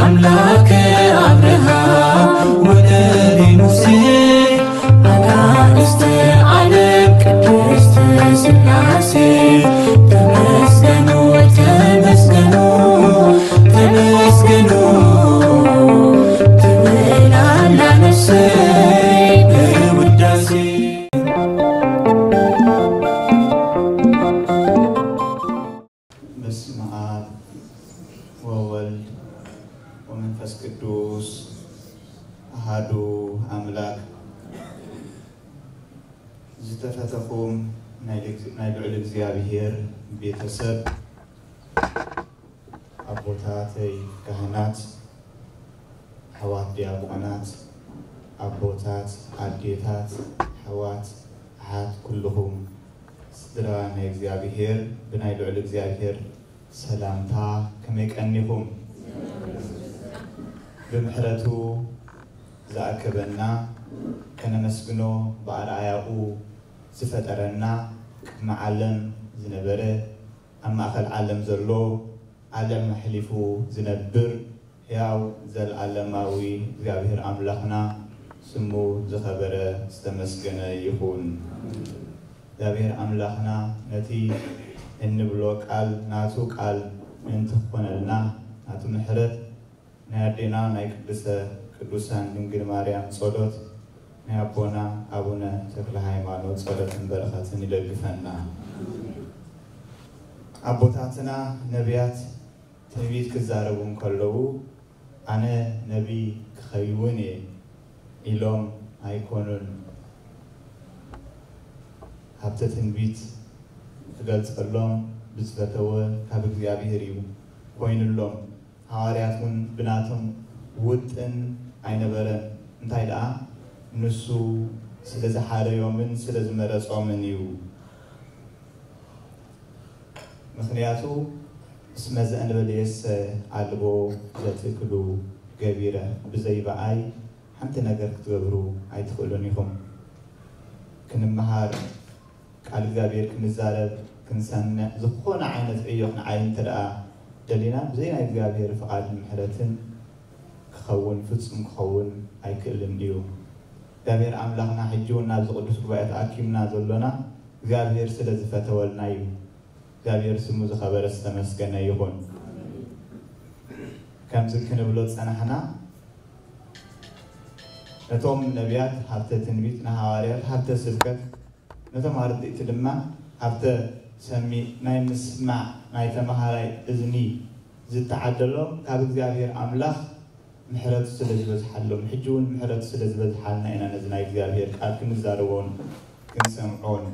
አምላክ አብርሃም ወነቢ ሙሴ አናእስተ ዓለም ቅድስት ስላሴ ተመስገኑ ተመስገኑ ተመስገኑ ትብል ኣላ ነፍሰይ ብውዳሴ። በስመ አብ ወወልድ ወመንፈስ ቅዱስ አሃዱ አምላክ። ዝተፈተኹም ናይ ልግ-፣ ናይ ልዑል እግዚኣብሔር ቤተሰብ፣ ኣቦታተይ ካህናት፣ ኣሕዋት ዲያቆናት፣ ኣቦታት፣ ኣዴታት፣ ኣሕዋት፣ ኣሓት፣ ኩልኹም ስድራ ናይ እግዚኣብሔር፣ ብናይ ልዑል እግዚኣብሔር ሰላምታ ከመይ ቀኒኹም? ብምሕረቱ ዝኣከበና፣ ከነመስግኖ ብኣርኣያኡ ዝፈጠረና፣ ቅድሚ ዓለም ዝነበረ፣ ኣብ ማእከል ዓለም ዘሎ፣ ዓለም ኣሕሊፉ ዝነብር፣ ሕያው ዘለዓለማዊ እግዚኣብሔር ኣምላኽና ስሙ ዝኸበረ ዝተመስገነ ይኹን። እግዚኣብሔር ኣምላኽና ነቲ እንብሎ ቃል ናቱ ቃል ምእንቲ ክኾነልና፣ ናቱ ምሕረት፣ ናይ ኣዴና ናይ ቅድስተ ቅዱሳን ድንግል ማርያም ጸሎት፣ ናይ ኣቦና ኣቡነ ተክለ ሃይማኖት ጸሎትን በረኸትን ይደግፈና። ኣቦታትና ነቢያት ትንቢት ክዛረቡ እንከለዉ፣ "ኣነ ነቢይ ክኸውን እየ" ኢሎም ኣይኮኑን። ሃብተ ትንቢት ክገልጸሎም ብዝፈተወ ካብ እግዚኣብሔር እዩ ኮይኑሎም። ሃዋርያት እውን ብናቶም ውጥን ኣይነበረን። እንታይ ደኣ፣ ንሱ ስለ ዝሓረዮምን ስለ ዝመረጾምን እዩ። ምኽንያቱ፣ "እስመ ዘእንበሌሰ አልቦ ዘትክሉ ገቢረ"፣ ብዘይ ብኣይ ሓንቲ ነገር ክትገብሩ ኣይትኽእሉን ኢኹም። ክንመሃር፣ ቃል እግዚኣብሔር ክንዛረብ፣ ክንሰምዕ፣ ዝኾነ ዓይነት ዕዮ ክንዓይ እንተ ደኣ ደሊና፣ ብዘይ ናይ እግዚኣብሔር ፍቓድን ምሕረትን ክኸውን፣ ፍጹም ክኸውን ኣይክእልን እዩ። እግዚኣብሔር ኣምላኽና ሕጂ እውን ናብዚ ቅዱስ ጉባኤ ተኣኪብና ዘሎና እግዚኣብሔር ስለ ዝፈተወልና እዩ። እግዚኣብሔር ስሙ ዝኸበረ ዝተመስገነ ይኹን። ከምዚ ክንብሎ ዝጸናሕና፣ ነቶም ነቢያት ሃብተ ትንቢት፣ ንሃዋርያት ሃብተ ስብከት፣ ነቶም ኣርድእቲ ድማ ሃብተ ሰሚዕ፣ ናይ ምስማዕ፣ ናይ ተመሃራይ እዝኒ ዝተዓደሎም ካብ እግዚኣብሔር ኣምላኽ ምሕረቱ ስለ ዝበዝሓሎም፣ ሕጂ እውን ምሕረቱ ስለ ዝበዝሓልና ኢና ነዚ ናይ እግዚኣብሔር ቃል ክንዛረቦን ክንሰምዖን።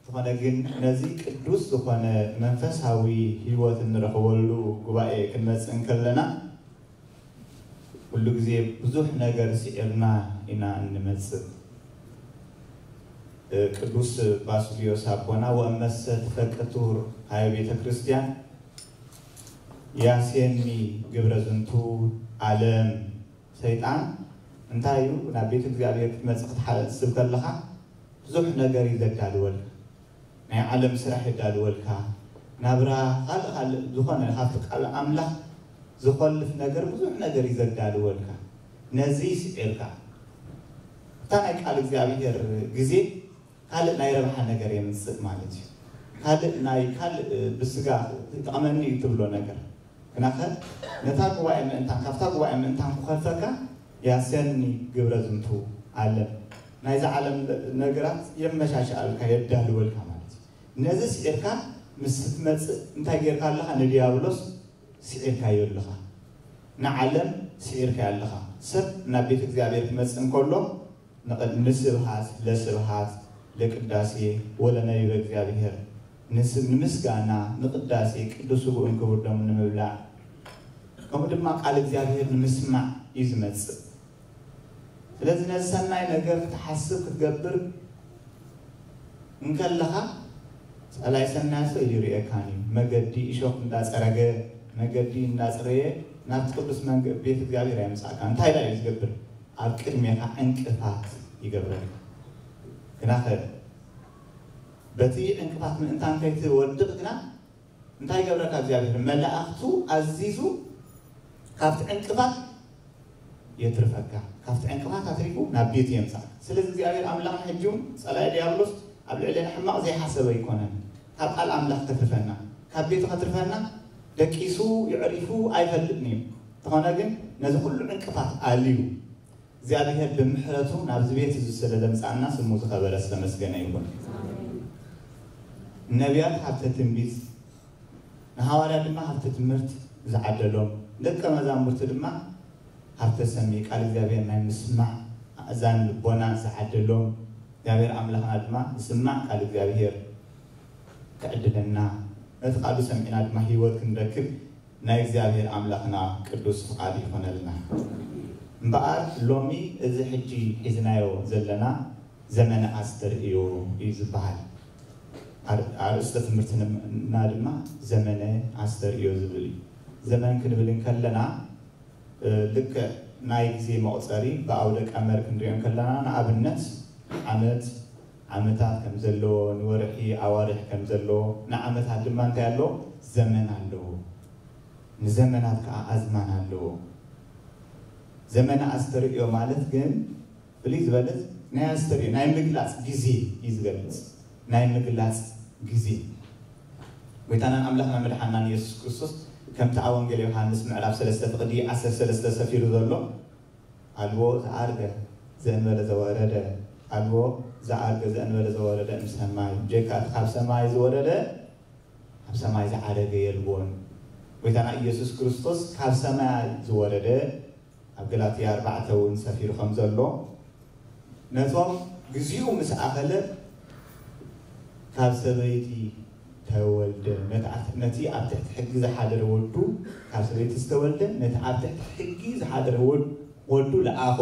ዝኾነ ግን ነዚ ቅዱስ ዝኾነ መንፈሳዊ ህይወት እንረኽበሉ ጉባኤ ክንመጽእ እንከለና፣ ኩሉ ግዜ ብዙሕ ነገር ስዒርና ኢና እንመጽእ። ቅዱስ ባስልዮስ ኣቦና፣ "ወእመሰ ትፈቅድ ትሁር ሃበ ቤተ ክርስቲያን ያሴኒ ግብረ ዝንቱ ዓለም።" ሰይጣን እንታይ እዩ? ናብ ቤት እግዚኣብሔር ክትመጽእ ክትሓ-፣ ክትስብ ከለኻ ብዙሕ ነገር እዩ ዘዳልወልካ። ናይ ዓለም ስራሕ የዳልወልካ። ናብራ ካልእ ካልእ ዝኾነ ካብቲ ቃል ኣምላኽ ዝኾልፍ ነገር ብዙሕ ነገር እዩ ዘዳልወልካ። ነዚ ስዒርካ፣ እታ ናይ ቃል እግዚኣብሔር ግዜ ካልእ ናይ ረብሓ ነገር የምጽእ ማለት እዩ። ካልእ ናይ፣ ካልእ ብስጋ ይጠቕመኒ እዩ ትብሎ ነገር። ግናኸ ነታ ጉባኤ ምእንታን፣ ካብታ ጉባኤ ምእንታን ክኸልፈካ ያሰኒ ግብረ ዝንቱ ዓለም። ናይዚ ዓለም ነገራት የመሻሽኣልካ፣ የዳልወልካ ማለት እዩ። ነዚ ስዒርካ ምስ ትመጽእ እንታይ ጌርካ ኣለኻ? ንዲያብሎስ ስዒርካዮ ኣለኻ። ንዓለም ስዒርካዮ ኣለኻ። ሰብ ናብ ቤት እግዚኣብሔር ክመጽእ እንከሎ ንቐ-፣ ንስብሃት ለስብሃት ለቅዳሴ ወለነቢበ እግዚኣብሔር፣ ንስ-፣ ንምስጋና፣ ንቅዳሴ ቅዱስ ስግኡን ክቡር ደሙን ንምብላዕ፣ ከምኡ ድማ ቃል እግዚኣብሔር ንምስማዕ እዩ ዝመጽእ። ስለዚ ነዚ ሰናይ ነገር ክትሓስብ ክትገብር እንከለኻ፣ ጸላኢ ሰናይ ሰው ይርእየካን እዩ። መገዲ እሾኽ እንዳጸረገ፣ መገዲ እንዳጽረየ ናብቲ ቅዱስ መንገ-፣ ቤት እግዚኣብሔር ኣየምጽኣካን። እንታይ ደኣ እዩ ዝገብር? ኣብ ቅድሜኻ ዕንቅፋት ይገብረልካ። ግናኸ በቲ ዕንቅፋት ምእንታን ከይትወድቕ ግና እንታይ ይገብረካ እግዚኣብሔር? መላእኽቱ ኣዚዙ ካብቲ ዕንቅፋት የትርፈካ፣ ካብቲ ዕንቅፋት ኣትሪፉ ናብ ቤቱ የምጻእ። ስለዚ እግዚኣብሔር ኣምላኽ ሕጂ እውን ጸላኢ ዲያብሎስ ኣብ ልዕሌና ሕማቕ ዘይሓሰበ ኣይኮነን። ካብ ቃል ኣምላኽ ከትርፈና፣ ካብ ቤቱ ከትርፈና ደቂሱ ይዕሪፉ ኣይፈልጥን እዩ። እንተኾነ ግን ነዚ ኩሉ ዕንቅፋት ኣልዩ እግዚኣብሔር ብምሕረቱ ናብዚ ቤት እዚ ስለ ዘምጻእና ስሙ ዝኸበረ ዝተመስገነ ይኹን። ነቢያት ሃብተ ትንቢት፣ ንሃዋርያ ድማ ሃብተ ትምህርት ዝዓደሎም፣ ደቀ መዛሙርቲ ድማ ሃብተ ሰሚ፣ ቃል እግዚኣብሔር ናይ ምስማዕ ኣእዛን ልቦና ዝዓደሎም፣ እግዚኣብሔር ኣምላኽና ድማ ንስማዕ ቃል እግዚኣብሔር ክዕድለና፣ ነቲ ቃሉ ሰሚዕና ድማ ህይወት ክንረክብ ናይ እግዚኣብሔር ኣምላኽና ቅዱስ ፍቓድ ይኾነልና። እምበኣር ሎሚ እዚ ሕጂ ሒዝናዮ ዘለና ዘመነ ኣስተርእዮ እዩ ዝበሃል። ኣር-፣ ኣርእስተ ትምህርትና ድማ ዘመነ ኣስተርእዮ ዝብል እዩ። ዘመን ክንብል እንከለና፣ እ፣ ልክዕ ናይ ግዜ መቑጸሪ ብኣውደ ቀመር ክንሪኦ እንከለና፣ ንኣብነት ዓመት፣ ዓመታት ከም ዘለዎ፣ ንወርሒ ኣዋርሕ ከም ዘለዎ፣ ንዓመታት ድማ እንታይ ኣለዎ? ዘመን ኣለዎ። ንዘመናት ከዓ ኣዝማን ኣለዎ። ዘመነ ኣስተርእዮ ማለት ግን ፍልይ ዝበለ ናይ ኣስተርእዮ፣ ናይ ምግላጽ ግዜ እዩ ዝገልጽ። ናይ ምግላጽ ግዜ። ጎይታናን ኣምላኽና መድሓናን ኢየሱስ ክርስቶስ ከምቲ ኣብ ወንጌል ዮሃንስ ምዕራፍ ሰለስተ ፍቕዲ ዓሰርተ ሰለስተ ሰፊሩ ዘሎ፣ ኣልቦ ዝኣርገ ዘእንበለ ዘወረደ፣ ኣልቦ ዝኣርገ ዘእንበለ ዘወረደ እምሰማይ፣ ብጀካ እቲ ካብ ሰማይ ዝወረደ፣ ኣብ ሰማይ ዝዓረገ የልቦን። ጎይታና ኢየሱስ ክርስቶስ ካብ ሰማይ ዝወረደ፣ ኣብ ገላትያ ኣርባዕተ እውን ሰፊሩ ከም ዘሎ፣ ነቶም ግዜኡ ምስ ኣኸለ ካብ ሰበይቲ ተወልደ። ነቲ ኣብ-፣ ነቲ ኣብ ትሕቲ ሕጊ ዝሓደረ ወዱ፣ ካብ ሰበይቲ ዝተወልደ፣ ነቲ ኣብ ትሕቲ ሕጊ ዝሓደረ ወድ-፣ ወዱ ለኣኾ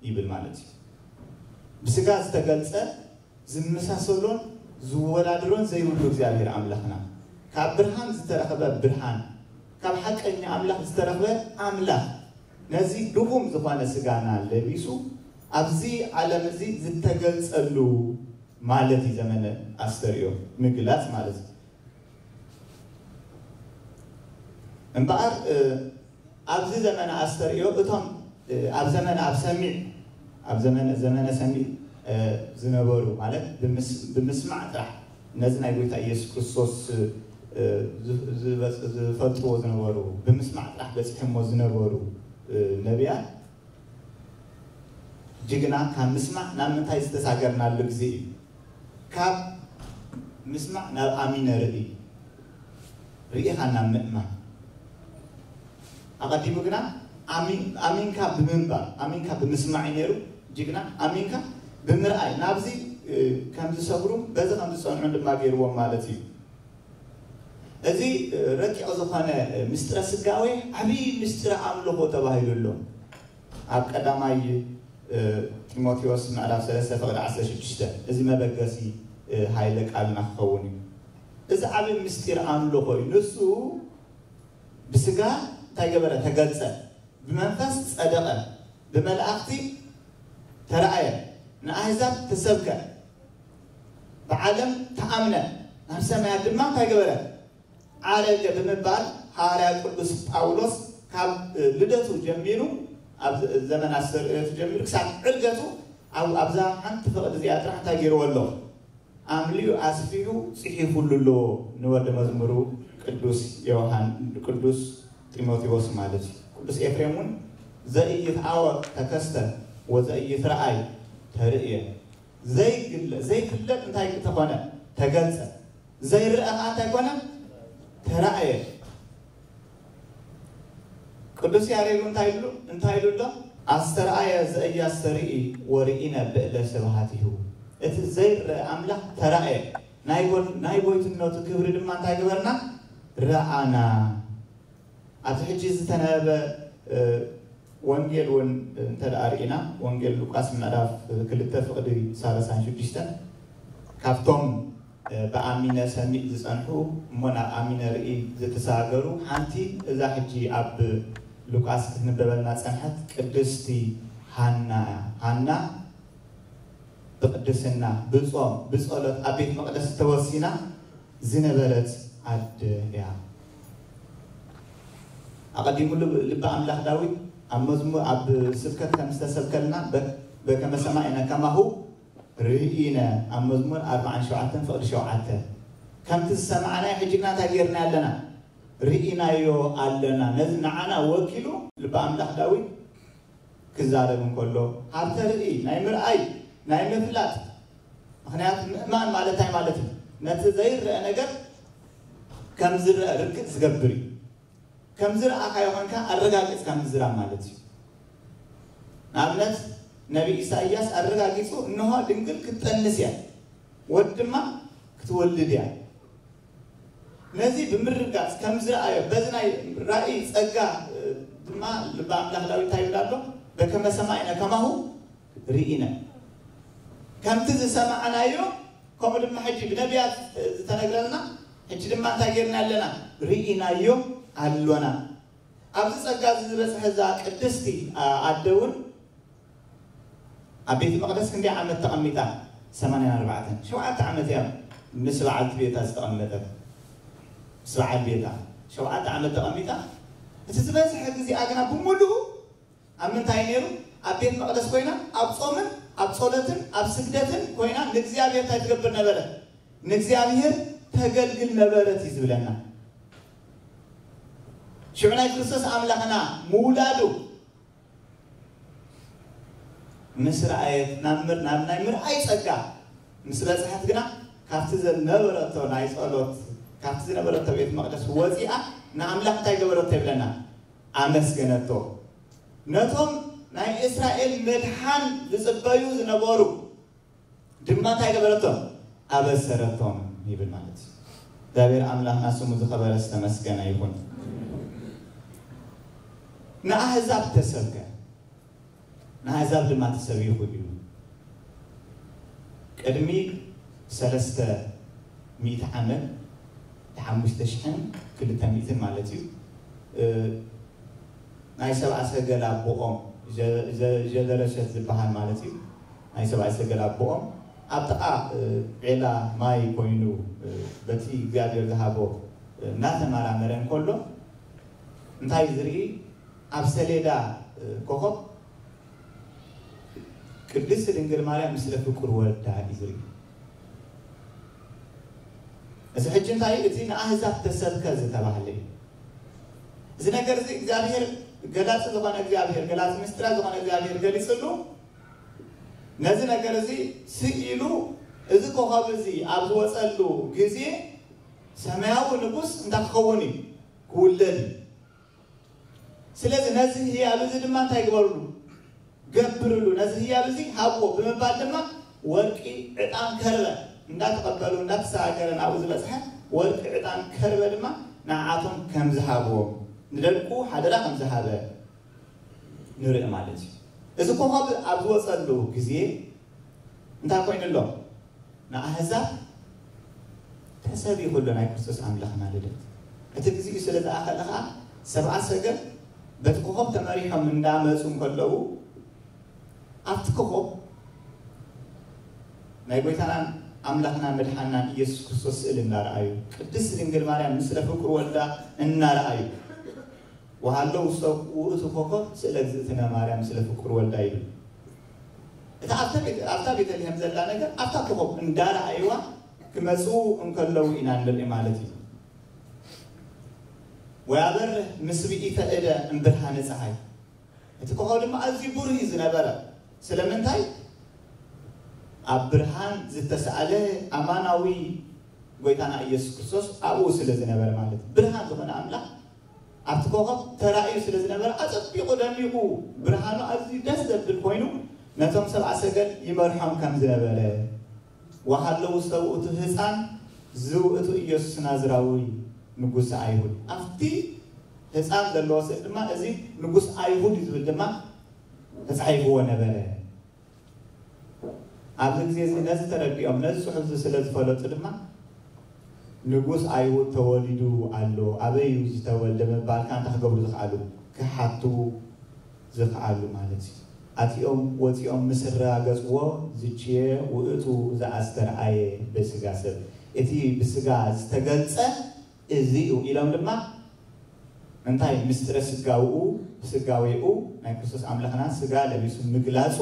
ይብል ማለት እዩ። ብስጋ ዝተገልጸ ዝመሳሰሎን ዝወዳድሮን ዘይብሉ እግዚኣብሔር ኣምላኽና፣ ካብ ብርሃን ዝተረኽበ ብርሃን፣ ካብ ሓቀኛ ኣምላኽ ዝተረኽበ ኣምላኽ፣ ነዚ ድኹም ዝኾነ ስጋና ለቢሱ ኣብዚ ዓለም እዚ ዝተገልጸሉ ማለት እዩ። ዘመነ ኣስተርእዮ ምግላጽ ማለት እዩ። እምበኣር፣ እ፣ ኣብዚ ዘመነ ኣስተርእዮ እቶም፣ እ፣ ኣብ ዘመነ፣ ኣብ ሰሚዕ፣ ኣብ ዘመነ፣ ዘመነ ሰሚዕ፣ እ፣ ዝነበሩ ማለት ብምስ-፣ ብምስማዕ ጥራሕ ነዚ ናይ ጎይታ ኢየሱስ ክርስቶስ፣ እ፣ ዝ-፣ ዝበጽ-፣ ዝፈልጥዎ ዝነበሩ፣ ብምስማዕ ጥራሕ በጺሖሞ ዝነበሩ፣ እ፣ ነቢያት፣ ጅግና፣ ካብ ምስማዕ ናብ ምንታይ ዝተሳገርናሉ ግዜ እዩ? ካብ ምስማዕ ናብ ኣሚነ ርእይ፣ ርኢኻ ናብ ምእማን። ኣቐዲሙ ግና ኣሚ-፣ ኣሚንካ ብምንባር፣ ኣሚንካ ብምስማዕ እዩ ነይሩ። ጅግና፣ ኣሚንካ ብምርኣይ፣ ናብዚ፣ እ፣ ከም ዝሰግሩን በዚ ከም ዝጸንዑን ድማ ገይርዎም ማለት እዩ። እዚ፣ እ፣ ረቂቕ ዝኾነ፣ እ፣ ምስጢረ ስጋዌ ዓብዪ ምስጢረ ኣምልኾ ተባሂሉ ኣሎ። ኣብ ቀዳማይ፣ እ፣ ጢሞቴዎስ ምዕራፍ ሰለስተ ፍቕዲ ዓሰርተ ሽዱሽተ፣ እዚ መበገሲ፣ እ፣ ሃይለ ቃልና ክኸውን እዩ። እዚ ዓቢ ምስጢር ኣምልኾ እዩ። ንሱ ብስጋ እንታይ ገበረ? ተገልጸ። ብመንፈስ ጸደቐ። ብመላእኽቲ ተራእየ። ንኣህዛብ ተሰብከ። ብዓለም ተኣምነ። ናብ ሰማያት ድማ እንታይ ገበረ? ዓረገ ብምባል ሃዋርያ ቅዱስ ጳውሎስ ካብ፣ እ፣ ልደቱ ጀሚሩ፣ ኣብ ዘ-፣ ዘመን ኣስተርእዮቱ ጀሚሩ ክሳብ ዕርገቱ ኣብ-፣ ኣብዛ ሓንቲ ፍቕዲ እዚኣ ጥራሕ እንታይ ገይርዎ ኣሎ? ኣምሊኡ ኣስፊሑ ጽሒፉሉ ኣሎ ንወዲ መዝሙሩ ቅዱስ ዮሃን-፣ ቅዱስ ጢሞቴዎስ ማለት እዩ። ቅዱስ ኤፍሬም እውን "ዘኢይትዓወቅ ተከስተ ወዘኢይትረኣይ ተርእየ"፣ ዘይግለ-፣ ዘይፍለጥ እንታይ ተኾነ? ተገልጸ። ዘይረኣ ከዓ እንታይ ኮነ? ተራእየ። ቅዱስ ያሬድ እንታይ ኢሉ፣ እንታይ ኢሉ ኣሎ? "ኣስተርኣየ ዘኢያስተርኢ ወርኢነ ብእለ ስብሐቲሁ።" እቲ ዘይረአ ኣምላኽ ተራእየ። ናይ ጎ-፣ ናይ ጎይትነቱ ክብሪ ድማ እንታይ ገበርና? ረኣና። ኣብዚ ሕጂ ዝተነበበ፣ እ፣ ወንጌል እውን እንተ ደኣ ርኢና፣ ወንጌል ሉቃስ ምዕራፍ ክልተ ፍቕዲ ሰላሳን ሽዱሽተን፣ ካብቶም፣ እ፣ ብኣሚነ ሰሚዕ ዝጸንሑ እሞ ናብ ኣሚነ ርኢ ዝተሰጋገሩ፣ ሓንቲ እዛ ሕጂ ኣብ ሉቃስ ክትንበበልና ጸንሐት ቅድስቲ ሃና እያ። ሃና ብቅድስና፣ ብጾም፣ ብጸሎት ኣብ ቤት መቕደስ ተወሲና ዝነበረት ኣደ እያ። ኣቐዲሙ ልብ ኣምላኽ ዳዊት ኣብ መዝሙር ኣብ ስብከት ከም ዝተሰብከልና በከመ ሰማዕነ ከማሁ ርኢነ ኣብ መዝሙር ኣርባዓን ሸውዓተን ፍቕዲ ሸውዓተ ከምቲ ዝሰማዕናዮ ሕጂ ግና እንታይ ጌርና ኣለና? ርኢናዮ ኣለና። ነዚ ንዓና ወኪሉ ልቢ ኣምላኽ ዳዊት ክዛረብ እንከሎ ሃብተ ርኢ ናይ ምርኣይ ናይ ምፍላጥ ምክንያት ምእማን ማለት እንታይ ማለት እዩ? ነቲ ዘይረአ ነገር ከም ዝረአ ርግጥ ዝገብር እዩ። ከም ዝረኣኻዮ ኮንካ ኣረጋግጽ ከም ዝዝራብ ማለት እዩ። ንኣብነት ነቢ ኢሳይያስ ኣረጋጊጹ እንሆ ድንግል ክትጠንስ እያ ወድ ድማ ክትወልድ እያ። ነዚ ብምርጋጽ ከም ዝረኣዮ በዚ ናይ ራእይ ጸጋ ድማ ልቢ ኣምላኽ ዳዊት እንታይ ይብል ኣሎ? በከመ ሰማዕነ ከማሁ ርኢነ። ከምቲ ዝሰማዕናዮ ከምኡ ድማ ሕጂ ብነቢያት ዝተነግረልና ሕጂ ድማ እንታይ ጌርና ኣለና? ርኢናዮ ኣሎና። ኣብዚ ጸጋ እዚ ዝበጽሐ እዛ ቅድስቲ ኣደ እውን ኣብ ቤተ መቕደስ ክንደይ ዓመት ተቐሚጣ? ሰማንያን ኣርባዕተን። ሸውዓተ ዓመት እያ ምስ በዓልቲ ቤታ ዝተቐመጠት። ምስ በዓል ቤታ ሸውዓተ ዓመት ተቐሚጣ። እቲ ዝበዝሐ ግዜኣ ግና ብምሉኡ ኣብ ምንታይ ነይሩ? ኣብ ቤት መቕደስ ኮይና ኣብ ጾምን ኣብ ጸሎትን ኣብ ስግደትን ኮይና ንእግዚኣብሔር እንታይ ትገብር ነበረ? ንእግዚኣብሔር ተገልግል ነበረት እዩ ዝብለና። ሽዑ ናይ ክርስቶስ ኣምላኽና ምውላዱ ምስ ረኣየት ናብ ምር ናብ ናይ ምርኣይ ጸጋ ምስ በጽሐት ግና ካብቲ ዝነበረቶ ናይ ጸሎት ካብቲ ዝነበረቶ ቤት መቕደስ ወጺኣ ንኣምላኽ እንታይ ገበረቶ ይብለና? ኣመስገነቶ። ነቶም ናይ እስራኤል ምድሓን ዝጽበዩ ዝነበሩ ድማ እንታይ ገበረቶም? ኣበሰረቶም ይብል ማለት እዩ። እግዚኣብሔር ኣምላኽና ስሙ ዝኸበረ ዝተመስገነ ይኹን። ንኣህዛብ ተሰብከ፣ ንኣህዛብ ድማ ተሰቢኹ እዩ። ቅድሚ ሰለስተ ሚእቲ ዓመት ሓሙሽተ ሽሕን ክልተ ሚእትን ማለት እዩ። ናይ ሰብኣ ሰገል ኣቦኦም ጀደረሸት ዝበሃል ማለት እዩ። ናይ ሰብኣ ሰገል ኣቦኦም ኣብ ጥቓ ዔላ ማይ ኮይኑ በቲ እግዚኣብሔር ዝሃቦ እናተመራመረ እንከሎ እንታይ ዝርኢ ኣብ ሰሌዳ ኮኸብ ቅድስቲ ድንግል ማርያም ምስለ ፍቁር ወዳ እዩ ዝርኢ። እዚ ሕጂ እንታይ እቲ ንኣህዛብ ተሰብከ ዝተባህለ እዩ። እዚ ነገር እዚ እግዚኣብሔር ገላፂ ዝኾነ እግዚኣብሔር ገላፂ ምስጢራት ዝኾነ እግዚኣብሔር ገሊፅሉ ነዚ ነገር እዚ ስኢሉ እዚ ኮኸብ እዚ ኣብ ዝወፀሉ ግዜ ሰማያዊ ንጉስ እንታይ ክኸውን እዩ? ክውለድ እዩ። ስለዚ ነዚ ህያብ እዚ ድማ እንታይ ግበርሉ? ገብርሉ። ነዚ ህያብ እዚ ሃብዎ ብምባል ድማ ወርቂ፣ ዕጣን፣ ከርበ እንዳተቐበሉ እንዳተሰጋገረ ናብኡ ዝበፅሐ ወርቂ፣ ዕጣን፣ ከርበ ድማ ንዓቶም ከም ዝሃብዎም ንደቁ ሓደራ ከም ዝሃበ ንርኢ ማለት እዩ። እዚ ኮኸብ ኣብ ዝወፀሉ ግዜ እንታይ ኮይኑ ኣሎ? ንኣህዛብ ተሰቢኹ ኣሎ ናይ ክርስቶስ ኣምላኽና ልደት። እቲ ግዜኡ ስለ ዝኣኸለ ኸዓ ሰብኣ ሰገል በቲ ኮኸብ ተመሪሖም እንዳመፁ እንከለዉ ኣብቲ ኮኸብ ናይ ጎይታናን ኣምላኽና መድሓናን ኢየሱስ ክርስቶስ ስእሊ እናረኣዩ ቅድስቲ ድንግል ማርያም ምስለ ፍቁር ወልዳ እናረኣዩ ወሃሎ ውስተ ውእቱ ኮከብ ስእለ እግዝእትነ ማርያም ምስለ ፍቁር ወልዳ ይብል። እታ ኣብታ ቤተ- ኣብታ ቤተልሔም ዘላ ነገር ኣብታ ኮኸብ እንዳረኣይዋ ክመፅኡ እንከለዉ ኢና ንርኢ ማለት እዩ። ወያበርህ ምስብኢተ እደ እምብርሃነ ፀሓይ እቲ ኮኸብ ድማ ኣዝዩ ብሩህ እዩ ዝነበረ። ስለምንታይ? ኣብ ብርሃን ዝተሰኣለ ኣማናዊ ጎይታና ኢየሱስ ክርስቶስ ኣብኡ ስለ ዝነበረ ማለት እዩ። ብርሃን ዝኾነ ኣምላኽ ኣብቲ ኮኸብ ተራእዩ ስለ ዝነበረ ኣጸቢቑ ደሚቑ ብርሃኑ ኣዝዩ ደስ ዘብል ኮይኑ ነቶም ሰብኣ ሰገል ይመርሖም ከም ዝነበረ ወሃሎ ውስተ ውእቱ ህፃን ዝውእቱ ኢየሱስ ናዝራዊ ንጉስ ኣይሁድ ኣብቲ ህፃን ዘለዎ ስእሊ ድማ እዚ ንጉስ ኣይሁድ እዩ ዝብል ድማ ተፃሒፍዎ ነበረ። ኣብዚ ግዜ እዚ ነዚ ተረዲኦም ነዚ ፅሑፍ እዚ ስለ ዝፈለጡ ድማ ንጉስ ኣይሁድ ተወሊዱ ኣሎ፣ ኣበይ እዩ ዝተወልደ ምባልካ እንታይ ክገብሩ ዝኽኣሉ? ክሓቱ ዝኽኣሉ ማለት እዩ። ኣቲኦም ወፂኦም ምስ ኣረጋገፅዎ ዝችየ ውእቱ ዘኣስተርኣየ በስጋ ሰብ፣ እቲ ብስጋ ዝተገልፀ እዚ እዩ ኢሎም ድማ እንታይ ምስጢረ ስጋውኡ፣ ስጋዌኡ ናይ ክርስቶስ ኣምላኽና ስጋ ለቢሱ ምግላጹ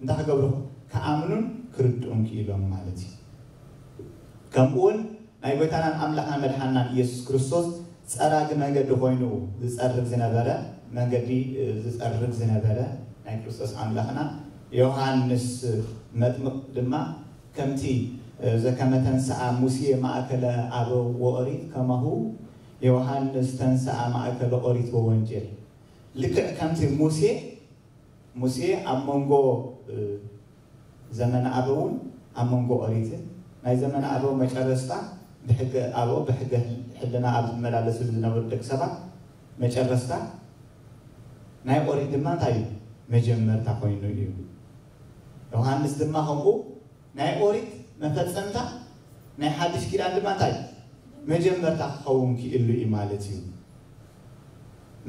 እንታይ ክገብሩ? ክኣምኑን ክርድኡን ክኢሎም ማለት እዩ። ከምኡ እውን ናይ ጎይታናን ኣምላኽና መድሓናን ኢየሱስ ክርስቶስ ጸራጊ መንገዲ ኮይኑ ዝጸርግ ዝነበረ፣ መንገዲ ዝጸርግ ዝነበረ ናይ ክርስቶስ ኣምላኽና ዮሃንስ መጥምቕ ድማ ከምቲ ዘከመ ተንስኣ ሙሴ ማእከለ ኣበው ወኦሪት ከማሁ ዮሃንስ ተንስኣ ማእከለ ኦሪት ወወንጌል፣ ልክዕ ከምቲ ሙሴ ሙሴ ኣብ መንጎ ዘመነ ኣበውን ኣብ መንጎ ኦሪትን ናይ ዘመነ ኣበው መጨረስታ ብሕገ ኣበው ብሕገ ሕልና ኣብ ዝመላለስሉ ዝነበሩ ደቂ ሰባት መጨረስታ ናይ ኦሪት ድማ እንታይ እዩ? መጀመርታ ኮይኑ እዩ። ዮሃንስ ድማ ከምኡ ናይ ኦሪት መፈጸምታ ናይ ሓድሽ ኪዳን ድማ እንታይ መጀመርታ ክኸውን ክኢሉ እዩ ማለት እዩ።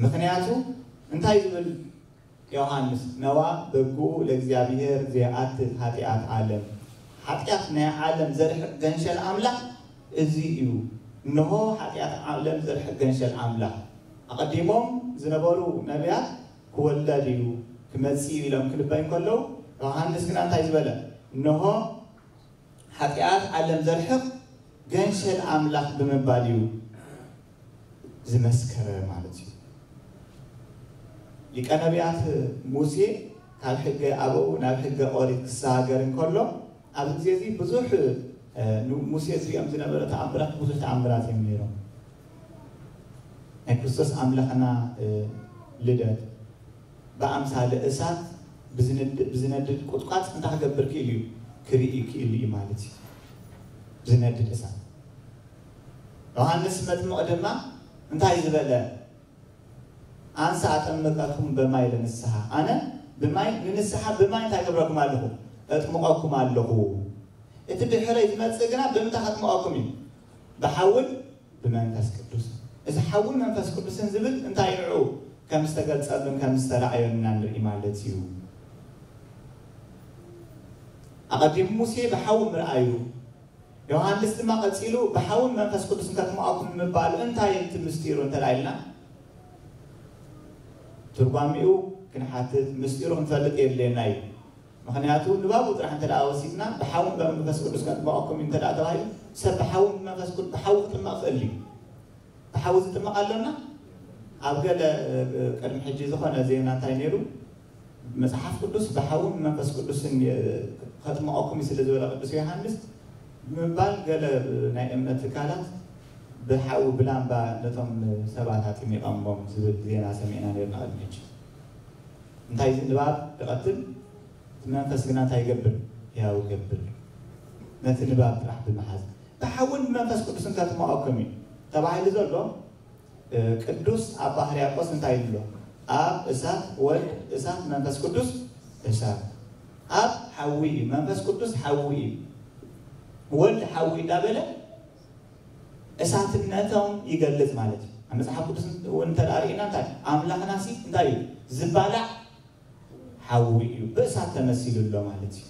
ምክንያቱ እንታይ ዝብል ዮሃንስ ነዋ በጉ ለእግዚኣብሔር ዘይኣትት ሓጢኣት ዓለም፣ ሓጢኣት ናይ ዓለም ዘርሕቕ ገንሸል ኣምላኽ እዚ እዩ። እንሆ ሓጢኣት ዓለም ዘርሕቕ ገንሸል ኣምላኽ። ኣቐዲሞም ዝነበሩ ነቢያት ክወለድ እዩ ክመጽእ እዩ ኢሎም ክልበዩ ከለዉ ዮሃንስ ግና እንታይ ዝበለ? እንሆ ሓጢኣት ዓለም ዘርሕቕ ገንሸል ኣምላኽ ብምባል እዩ ዝመስከረ ማለት እዩ። ሊቀ ነቢያት ሙሴ ካብ ሕገ ኣበው ናብ ሕገ ኦሪት ክሰጋገር እንከሎ ኣብዚ ግዜ እዚ ብዙሕ ሙሴ ዝሪኦም ዝነበረ ተኣምራት ብዙሕ ተኣምራት እዮም ነይሮም። ናይ ክርስቶስ ኣምላኽና ልደት ብኣምሳለ እሳት ብዝነድድ ቁጥቋጥ እንታይ ክገብር ክእል እዩ? ክርኢ ክእል እዩ ማለት እዩ። ብዝነድድ እሳት። ዮሃንስ መጥምቕ ድማ እንታይ ዝበለ? ኣንሰ ኣጠምቀኩም በማይ ለንስሓ፣ ኣነ ብማይ ንንስሓ ብማይ እንታይ ገብረኩም ኣለኹ? እጥምቐኩም ኣለኹ። እቲ ድሕረይ ዝመጽእ ግና ብምንታይ ከጥምቐኩም እዩ? ብሓውን ብመንፈስ ቅዱስ። እዚ ሓውን መንፈስ ቅዱስን ዝብል እንታይ ንዑ ከም ዝተገልጸሉን ከም ዝተረኣየሉና ንርኢ ማለት እዩ። ኣቐዲሙ ሙሴ ብሓዊ ምርኣዩ ዮሃንስ ድማ ቀጺሉ ብሓውን መንፈስ ቅዱስን ከጥምቐኩም ምባሉ እንታይ እቲ ምስጢሩ እንተ ኢልና ትርጓሚኡ ክንሓትት ምስጢሩ ክንፈልጥ የድልየና እዩ። ምክንያቱ ንባቡ ጥራሕ እንተ ወሲድና ብሓውን በመንፈስ ቅዱስ ከጥምቐኩም እዩ እንተ ተባሂሉ ሰብ ብሓውን መንፈስ ቅዱስ ብሓዊ ክጥመቕ ክእል እዩ። ብሓዊ ዝጥመቕ ኣሎና ኣብ ገለ ቅድሚ ሕጂ ዝኾነ ዜና እንታይ ነይሩ? መጽሓፍ ቅዱስ ብሓውን መንፈስ ቅዱስን ከጥምቐኩም እዩ ስለ ዝበለ ቅዱስ ዮሃንስ ብምባል ገለ ናይ እምነት ትካላት ብሓዊ ብላምባ ነቶም ሰባት ኣጥሚቐሞም ዝብል ዜና ሰሚዕና ነርና ቅድሚ ሕጂ። እንታይ እዚ ንባብ ይቐትል እቲ መንፈስ ግና እንታይ ይገብር? ሕያው ይገብር። ነቲ ንባብ ጥራሕ ብምሓዝ ብሓውን ብመንፈስ ቅዱስን ከጥምቐኩም እዩ ተባሂሉ ዘሎ ቅዱስ ኣባ ሕርያቆስ እንታይ ኢሉ ኣሎ? ኣብ እሳት ወልድ እሳት መንፈስ ቅዱስ እሳት ኣብ ሓዊ እዩ መንፈስ ቅዱስ ሓዊ እዩ ወልድ ሓዊ እንዳበለ እሳትነቶም ይገልጽ ማለት እዩ። ኣብ መጽሓፍ ቅዱስ እውን እንተ ርኢና እንታይ ኣምላኽናሲ እንታይ እዩ? ዝባላዕ ሓዊ እዩ ብእሳት ተመሲሉ ኣሎ ማለት እዩ።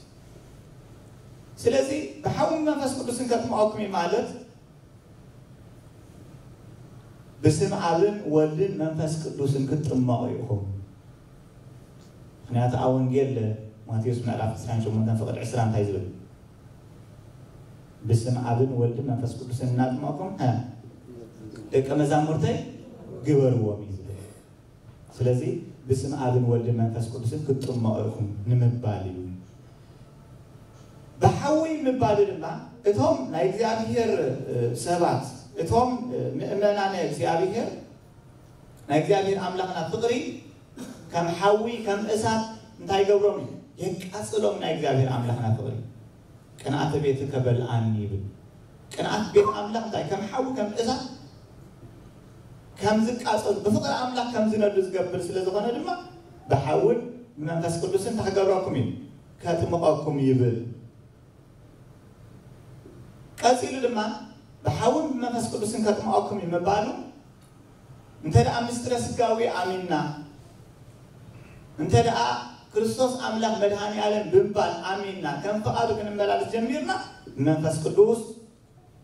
ስለዚ ብሓዊ መንፈስ ቅዱስን ከጥምቐኩም እዩ ማለት ብስም ኣብን ወልድን መንፈስ ቅዱስን ክትጥመቑ ኢኹም። ምክንያቱ ኣብ ወንጌል ማቴዎስ ምዕራፍ ዕስራን ሸሞንተን ፍቕድ ዕስራ እንታይ ዝብል? ብስም ኣብን ወልድን መንፈስ ቅዱስን እናጥመቕኩም ደቂ መዛሙርተይ ግበርዎም እዩ ዝብል። ስለዚ ብስም ኣብን ወልድን መንፈስ ቅዱስን ክትጥመቑ ኢኹም ንምባል እዩ። ብሓዊ ምባሉ ድማ እቶም ናይ እግዚኣብሔር ሰባት እቶም ምእመናን እግዚኣብሔር ናይ እግዚኣብሔር ኣምላኽና ፍቕሪ ከም ሓዊ ከም እሳት እንታይ ይገብሮም እዩ? የቃጽሎም ናይ እግዚኣብሔር ኣምላኽና ፍቕሪ። ቅንኣተ ቤትከ በልዓኒ ይብል። ቅንኣት ቤት ኣምላኽ እንታይ ከም ሓዊ ከም እሳት ከም ዝቃጸሉ ብፍቕሪ ኣምላኽ ከም ዝነዱ ዝገብር ስለ ዝኾነ ድማ ብሓውን ብመንፈስ ቅዱስን እንታይ ክገብረኩም እዩ? ከጥምቐኩም ይብል። ቀጺሉ ድማ ብሓውን ብመንፈስ ቅዱስን ከጥምቐኩም እዩ ምባሉ እንተ ደኣ ምስጢረ ስጋዊ ኣሚንና እንተ ደኣ ክርስቶስ ኣምላኽ መድሃኒ ኣለም ብምባል ኣሚንና ከም ፍቓዱ ክንመላለስ ጀሚርና መንፈስ ቅዱስ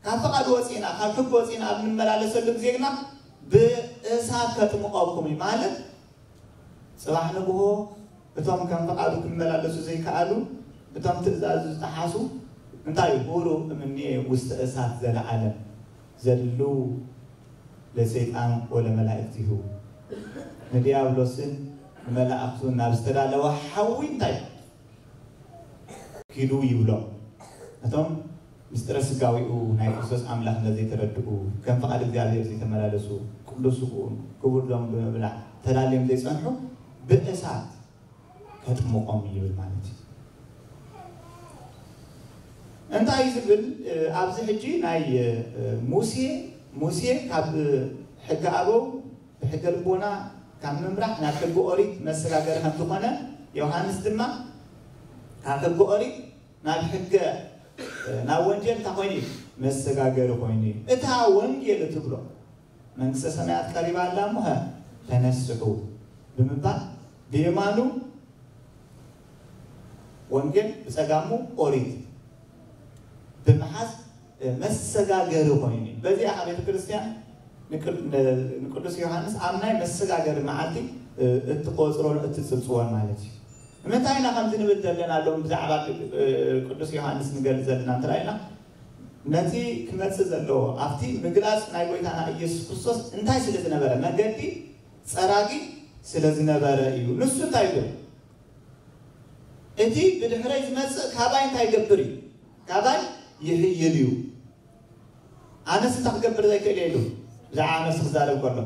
ካብ ፍቓድ ወፂእና፣ ካብ ሕጊ ወፂእና ኣብ ንመላለሰሉ ግዜ ግና ብእሳት ከጥምቐኩም እዩ ማለት፣ ፅባሕ ንግሆ እቶም ከም ፍቓዱ ክመላለሱ ዘይከኣሉ፣ እቶም ትእዛዙ ዝጠሓሱ፣ እንታይ እዩ? ሁሩ እምኔ ውስተ እሳት ዘለዓለም ዘድሉ ለሰይጣን ወለመላእክቲሁ፣ ንዲያብሎስን ንመላእክቱን ናብ ዝተዳለወ ሓዊ እንታይ ኪዱ ይብሎም። እቶም ምስጢረ ስጋዊኡ ናይ ክርስቶስ ኣምላኽነት ዘይተረድኡ፣ ከም ፍቓድ እግዚኣብሔር ዘይተመላለሱ፣ ቅዱስ ስግኡን ክቡር ደሙን ብምብላዕ ተዳልዮም ዘይጸንሑ ብእሳት ከጥምቖም ይብል ማለት እዩ። እንታይ እዩ ዝብል? ኣብዚ ሕጂ ናይ ሙሴ ሙሴ ካብ ሕጊ ኣበው ብሕገ ልቦና ካብ ምምራሕ ናብ ሕጊ ኦሪት መሰጋገሪ ከም ዝኾነ፣ ዮሃንስ ድማ ካብ ሕጊ ኦሪት ናብ ሕገ ናብ ወንጌል እንታይ ኮይኑ እዩ? መሰጋገሪ ኮይኑ እዩ። እታ ወንጌል እትብሎ መንግስተ ሰማያት ቀሪባ ኣላ እሞ ተነስሑ ብምባል ብየማኑ ወንጌል ብጸጋሙ ኦሪት ብምሓዝ መሰጋገሪ ኮይኑ እዩ። በዚኣ ቤተ ክርስቲያን ንቅዱስ ዮሃንስ ኣብ ናይ መሰጋገሪ መዓልቲ እትቆፅሮን እትፅብፅቦን ማለት እዩ። ንምንታይ ኢና ከምዚ ንብል ዘለና ኣለዉ? ብዛዕባ ቅዱስ ዮሃንስ ንገልፅ ዘለና እንተ ኢልና ነቲ ክመፅእ ዘለዎ ኣብቲ ምግላፅ ናይ ጎይታና ኢየሱስ ክርስቶስ እንታይ ስለ ዝነበረ፣ መገዲ ፀራጊ ስለ ዝነበረ እዩ። ንሱ እንታይ ይብል? እቲ ብድሕረይ ዝመጽእ ካባይ እንታይ ይገብር እዩ? ካባይ ይሕይል እዩ። ኣነስ እንታይ ክገብር ዘይክእል እየ ኢሉ ብዛዕባ ኣነስ ክዛረብ ከሎ፣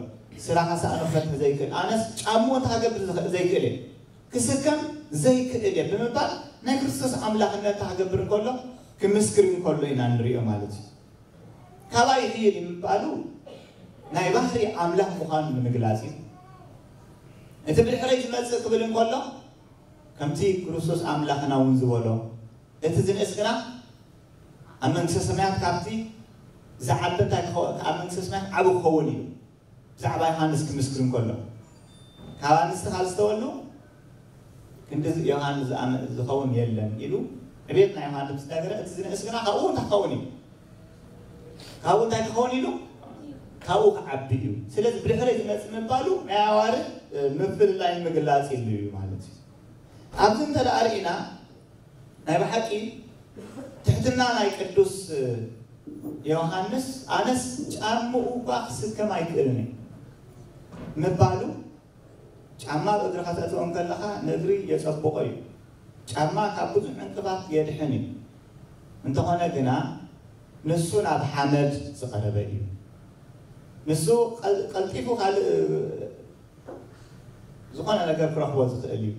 ስራኻ ሳእኑ ክፈትሕ ዘይክእል፣ ኣነስ ጫምኡ እንታይ ክገብር ዝኽእል ዘይክእል እየ፣ ክስከም ዘይክእል እየ ብምባል ናይ ክርስቶስ ኣምላኽነት እንታይ ክገብር እንከሎ፣ ክምስክር እንከሎ ኢና ንሪኦ ማለት እዩ። ካባይ ይሕይል እዩ ምባሉ ናይ ባህሪ ኣምላኽ ምዃኑ ንምግላጽ እዩ። እቲ ብድሕረይ ዝመጽእ ክብል እንከሎ ከምቲ ክርስቶስ ኣምላኽና እውን ዝበሎ እቲ ዝንእስ ግና ኣብ መንግስተ ሰማያት ካብቲ ዝዓቢ እንታይ ክኸ- ኣብ መንግስተ ሰማያት ዓቢ ክኸውን እዩ። ብዛዕባ ዮሃንስ ክምስክር እንከሎ ካብ ኣንስቲ ካብ ዝተወልዱ ክንዲ ዮሃንስ ዝኣመ- ዝኸውን የለን ኢሉ ዕቤት ናይ ዮሃንስ ምስ ነገረ እቲ ዝንእስ ግና ካብኡ እንታይ ክኸውን እዩ? ካብኡ እንታይ ክኸውን ኢሉ ካብኡ ክዓቢ እዩ። ስለዚ ብድሕረይ ዝመፅእ ምባሉ ናይ ኣዋርድ ምፍልላይ ምግላፅ ኢሉ እዩ ማለት እዩ። ኣብዚ እንተ ደኣ ርኢና ናይ ብሓቂ ትሕትና ናይ ቅዱስ ዮሃንስ ኣነስ ጫምኡ እኳ ክስከም ኣይክእልን እየ ምባሉ ጫማ ኣብ እግርኻ ተእትዎ እንከለኻ ንእግሪ የጸብቖ እዩ። ጫማ ካብ ብዙሕ ዕንቅፋት የድሕን እዩ። እንተኾነ ግና ንሱ ናብ ሓመድ ዝቐረበ እዩ። ንሱ ቀል- ቀልጢፉ ካልእ ዝኾነ ነገር ክረኽቦ ዝኽእል እዩ።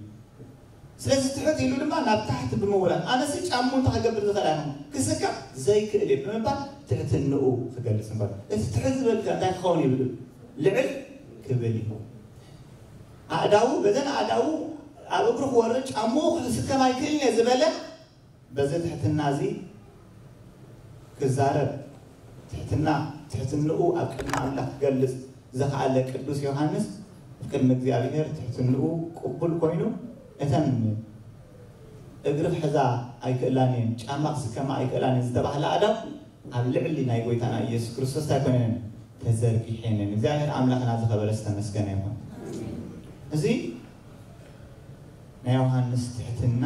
ስለዚ ትሕት ኢሉ ድማ ናብ ታሕቲ ብምውራድ ኣነሲ ጫሙ እንታይ ክገብር ዝኽእል ኣይኹን ክስከም ዘይክእል እየ ብምባል ትሕትንኡ ክገልጽ እንከሎ እቲ ትሕት ዝበልከ እንታይ ክኸውን ይብል ልዕል ክብል እዩ። ኣእዳዉ በዘን ኣእዳዉ ኣብ እግሩ ክወርድ ጫምኡ ክስከም ኣይክእልን እየ ዝበለ በዚ ትሕትና እዚ ክዛረብ ትሕትና ትሕትንኡ ኣብ ቅድሚ ኣምላኽ ክገልጽ ዝኸኣለ ቅዱስ ዮሃንስ ኣብ ቅድሚ እግዚኣብሔር ትሕትንኡ ቅቡል ኮይኑ እተን እግሪ ክሕዛ ኣይክእላን እየን ጫማ ክስከማ ኣይክእላን እየን ዝተባህላ ኣእዳው ኣብ ልዕሊ ናይ ጎይታና ኢየሱስ ክርስቶስ እንታይ ኮይነን ተዘርጊሐንን እግዚኣብሔር ኣምላኽና ዝኸበረ ዝተመስገነ ይኹን። እዚ ናይ ዮሃንስ ትሕትና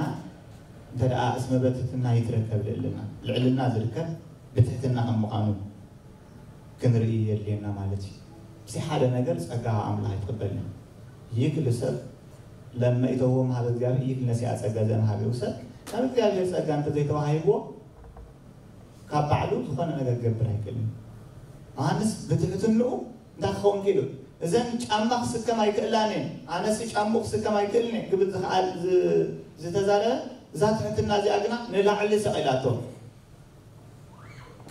እንተ ደኣ እስመ በትሕትና ይትረከብ ልዕልና ልዕልና ዝርከብ ብትሕትና ከም ምዃኑ ክንርኢ የድልየና ማለት እዩ። እዚ ሓደ ነገር ጸጋ ኣምላኽ ኣይትቕበልን ይክል ሰብ ለመይተዎም ሀበ እግዚኣብሔር ይክል ነሲኣ ጸጋ ዘንሃቢው ሰብ ካብ እግዚኣብሔር ጸጋ እንተዘይተዋሂብዎ ካብ ባዕሉ ዝኾነ ነገር ክገብር ኣይክእልን። ዮሃንስ ብትሕትንኡ እንታይ ክኸውን ክኢሉ? እዘን ጫማ ክስከም ኣይክእላን እየን፣ ኣነሲ ጫምኡ ክስከም ኣይክእልን እየ ክብል ዝኽኣል ዝ- ዝተዛረበ እዛ ትሕትና እዚኣ ግና ንላዕሊ ሰቒላቶ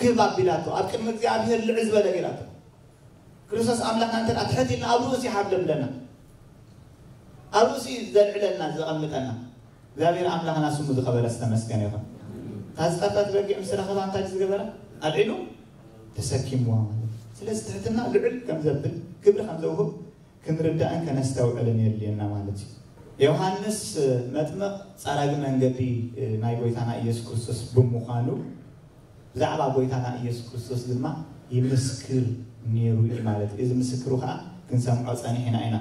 ክብ ኣቢላቶ ኣብ ቅድሚ እግዚኣብሔር ልዕል ዝበለ ገይራቶ። ክርስቶስ ኣምላኽና እንተ ደኣ ትሕት ኢልና ኣብ ርእሱ ይሓብለ ብለና ኣብ ርእሱ እዩ ዘልዕለና ዘቐምጠና እግዚኣብሔር ኣምላኽና ስሙ ዝኸበረ ዝተመስገነ ይኹን። እታ ዝጠፍአት በጊዕ ምስ ረኸባ እንታይ ዝገበረ ኣልዒሉ ተሰኪምዋ ማለት እዩ። ስለዚ ትሕትና ልዕል ከም ዘብል ክብሪ ከም ዘውህብ ክንርዳእን ከነስተውዕልን የድልየና ማለት እዩ። ዮሃንስ መጥምቕ ጸራጊ መንገዲ ናይ ጎይታና ኢየሱስ ክርስቶስ ብምዃኑ ብዛዕባ ጎይታና ኢየሱስ ክርስቶስ ድማ ይምስክር ነይሩ እዩ ማለት እዩ። እዚ ምስክሩ ከዓ ክንሰምዖ ጸኒሕና ኢና።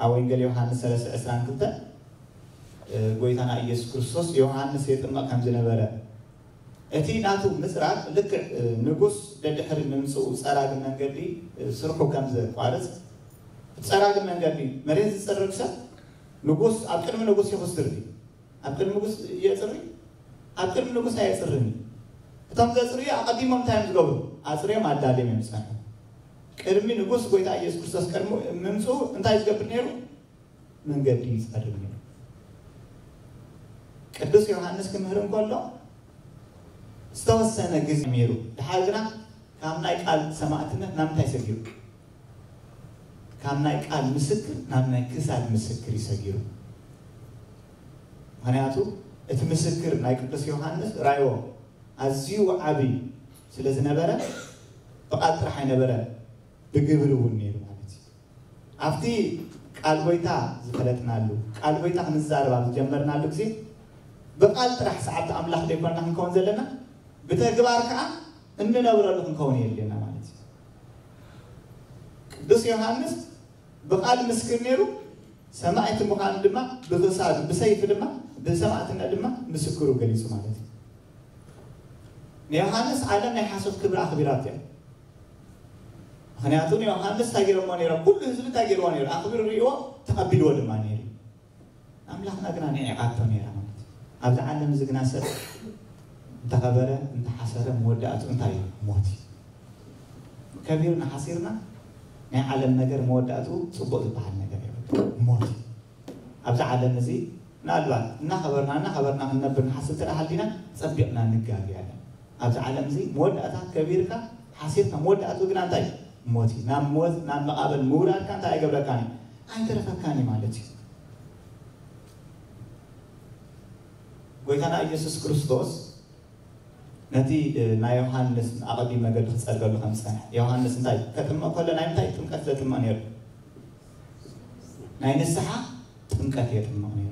ኣብ ወንጌል ዮሃንስ ሰለስተ ዕስራን ክልተ ጎይታና ኢየሱስ ክርስቶስ ዮሃንስ የጥምቕ ከም ዝነበረ፣ እቲ ናቱ ምጽራግ ልክዕ ንጉስ ደድሕሪ ምምጽኡ ጸራጊ መንገዲ ስርሑ ከም ዘቋርጽ፣ ጸራጊ መንገዲ መሬት ዝጽርግ ሰብ ንጉስ ኣብ ቅድሚ ንጉስ ይኹስር ድዩ? ኣብ ቅድሚ ንጉስ የጽሪ? ኣብ ቅድሚ ንጉስ ኣየጽርን እዩ። እቶም ዘጽርዩ ኣቐዲሞም እንታይ እዮም ዝገብሩ? ኣጽርዮም ኣዳልዮም እዮም ዝጸንሑ። ቅድሚ ንጉስ ጎይታ ኢየሱስ ክርስቶስ ቅድሚ ምምጽኡ እንታይ ዝገብር ነይሩ? መንገዲ ይጸርግ ነይሩ። ቅዱስ ዮሃንስ ክምህር እንከሎ ዝተወሰነ ግዜ ነይሩ። ድሓር ግና ካብ ናይ ቃል ሰማዕትነት ናብ ምንታይ ሰጊሩ? ካብ ናይ ቃል ምስክር ናብ ናይ ክሳድ ምስክር ይሰጊሩ። ምክንያቱ እቲ ምስክር ናይ ቅዱስ ዮሃንስ ራዮ ኣዝዩ ዓቢ ስለ ዝነበረ ብቃል ጥራሕ ኣይነበረ፣ ብግብሪ እውን ነይሩ ማለት እዩ። ኣብቲ ቃል ጎይታ ዝፈለጥናሉ፣ ቃል ጎይታ ክንዛረብ ኣብ ዝጀመርናሉ ግዜ ብቃል ጥራሕ ሰዓብቲ ኣምላኽ ዘይኮንና ክንከውን ዘለና፣ ብተግባር ከዓ እንነብረሉ ክንከውን የድልየና ማለት እዩ። ቅዱስ ዮሃንስ ብቃል ምስክር ነይሩ፣ ሰማዕቲ ምዃኑ ድማ ብክሳዱ፣ ብሰይፊ ድማ፣ ብሰማዕትነት ድማ ምስክሩ ገሊጹ ማለት እዩ። ንዮሃንስ ዓለም ናይ ሓሶት ክብሪ ኣኽቢራት እያ። ምክንያቱ ንዮሃንስ እንታይ ገይሮሞ ነይሮም? ኩሉ ህዝቢ እንታይ ገይርዎ ነይሩ? ኣኽቢሩ ርእይዎ፣ ተቐቢልዎ ድማ ነይሩ። ኣምላኽና ግና ንዒቓቶ ነይራ ማለት እዩ። ኣብዚ ዓለም እዚ ግና ሰብ እንተኸበረ እንተሓሰረ መወዳእቱ እንታይ እዩ? ሞት እዩ። ከቢርና ሓሲርና ናይ ዓለም ነገር መወዳእቱ ጽቡቕ ዝበሃል ነገር የብሉ፣ ሞት እዩ። ኣብዚ ዓለም እዚ ምናልባት እናኸበርና እናኸበርና ክንነብር ንሓስብ እንተ ደኣ ሃሊና ጸቢቕና ንጋገ ኣለን። ኣብዚ ዓለም እዚ መወዳእታ ከቢርካ ሓሲርካ መወዳእቱ ግና እንታይ እዩ? ሞት እዩ። ናብ ሞት ናብ መቓብር ምውራድካ እንታይ ኣይገብረካን እዩ? ኣይተረፈካን እዩ ማለት እዩ። ጎይታና ኢየሱስ ክርስቶስ ነቲ ናይ ዮሃንስ ኣቐዲመ ገድሊ ክጸርገሉ ከም ዝጸንሐ፣ ዮሃንስ እንታይ ከጥምቕ ከሎ ናይ ምንታይ ጥምቀት ዘጥምቕ ነይሩ? ናይ ንስሓ ጥምቀት የጥምቕ ነይሩ።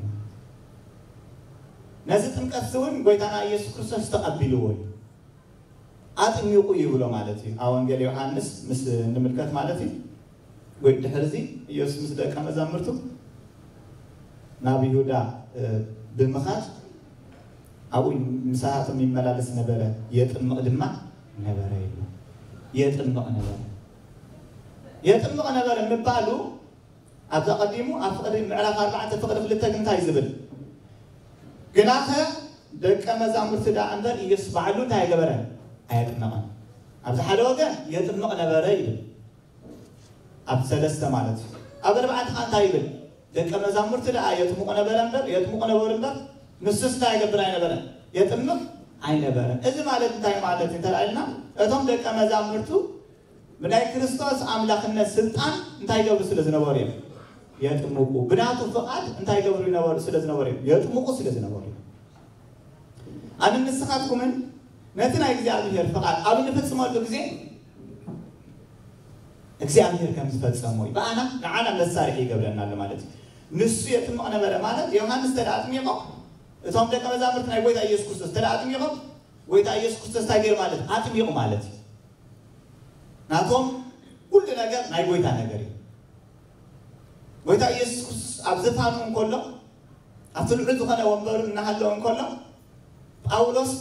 ነዚ ጥምቀት እውን ጎይታና ኢየሱስ ክርስቶስ ተቐቢልዎ እዩ። ኣጥሚቑ ይብሎ ማለት እዩ። ኣብ ወንጌል ዮሃንስ ምስ እንምልከት ማለት እዩ። ወይ ድሕርዚ ኢየሱስ ምስ ደቀ መዛሙርቱ ናብ ይሁዳ ብምኻድ ኣብኡ ምሳቶም ይመላለስ ነበረ፣ የጥምቕ ድማ ነበረ ይብሎ። የጥምቕ ነበረ። የጥምቕ ነበረ ምባሉ ኣብዛ ቀዲሙ ኣብ ፍቕዲ ምዕራፍ ኣርባዕተ ፍቕዲ ክልተ ግን እንታይ ዝብል? ግናኸ ደቀ መዛሙርቲ ደኣ እምበር ኢየሱስ ባዕሉ እንታይ ኣይገበረን? ኣየጥመቐን። ኣብዚ ሓደ ወገን የጥምቕ ነበረ ይብል። ኣብ ሰለስተ ማለት እዩ። ኣብ ኣርባዕተ ኸዓ እንታይ ይብል? ደቀ መዛሙርቲ ደኣ የጥምቑ ነበረ እምበር፣ የጥምቑ ነበሩ እምበር፣ ንሱስ እንታይ ይገብር ኣይነበረን? የጥምቕ ኣይነበረን። እዚ ማለት እንታይ ማለት እዩ እንተ ኢልና፣ እቶም ደቀ መዛሙርቱ ብናይ ክርስቶስ ኣምላኽነት ስልጣን እንታይ ይገብሩ ስለ ዝነበሩ እዮም? የጥምቁ። ብናቱ ፍቓድ እንታይ ይገብሩ ይነበሩ ስለ ዝነበሩ እዮም? የጥምቁ ስለ ዝነበሩ እዮም። ኣነ ንስኻትኩምን ነቲ ናይ እግዚኣብሔር ፍቓድ ኣብ እንፍጽመሉ ግዜ እግዚኣብሔር ከም ዝፈጸሞ እዩ። ብኣና ንዓና መሳርሒ ይገብረና ኣሎ ማለት እዩ። ንሱ የጥምቕ ነበረ ማለት ዮሃንስ ተደኣ ኣጥሚቖም፣ እቶም ደቀ መዛሙርቲ ናይ ጎይታ ኢየሱስ ክርስቶስ ተደኣ ኣጥሚቖም፣ ጎይታ ኢየሱስ ክርስቶስ እንታይ ገይሩ ማለት ኣጥሚቑ ማለት እዩ። ናቶም ኩሉ ነገር ናይ ጎይታ ነገር እዩ። ጎይታ ኢየሱስ ክርስቶስ ኣብ ዝፋኑ እንከሎ ኣብቲ ልዑል ዝኾነ ወንበሩ እናሃለወ እንከሎ ጳውሎስ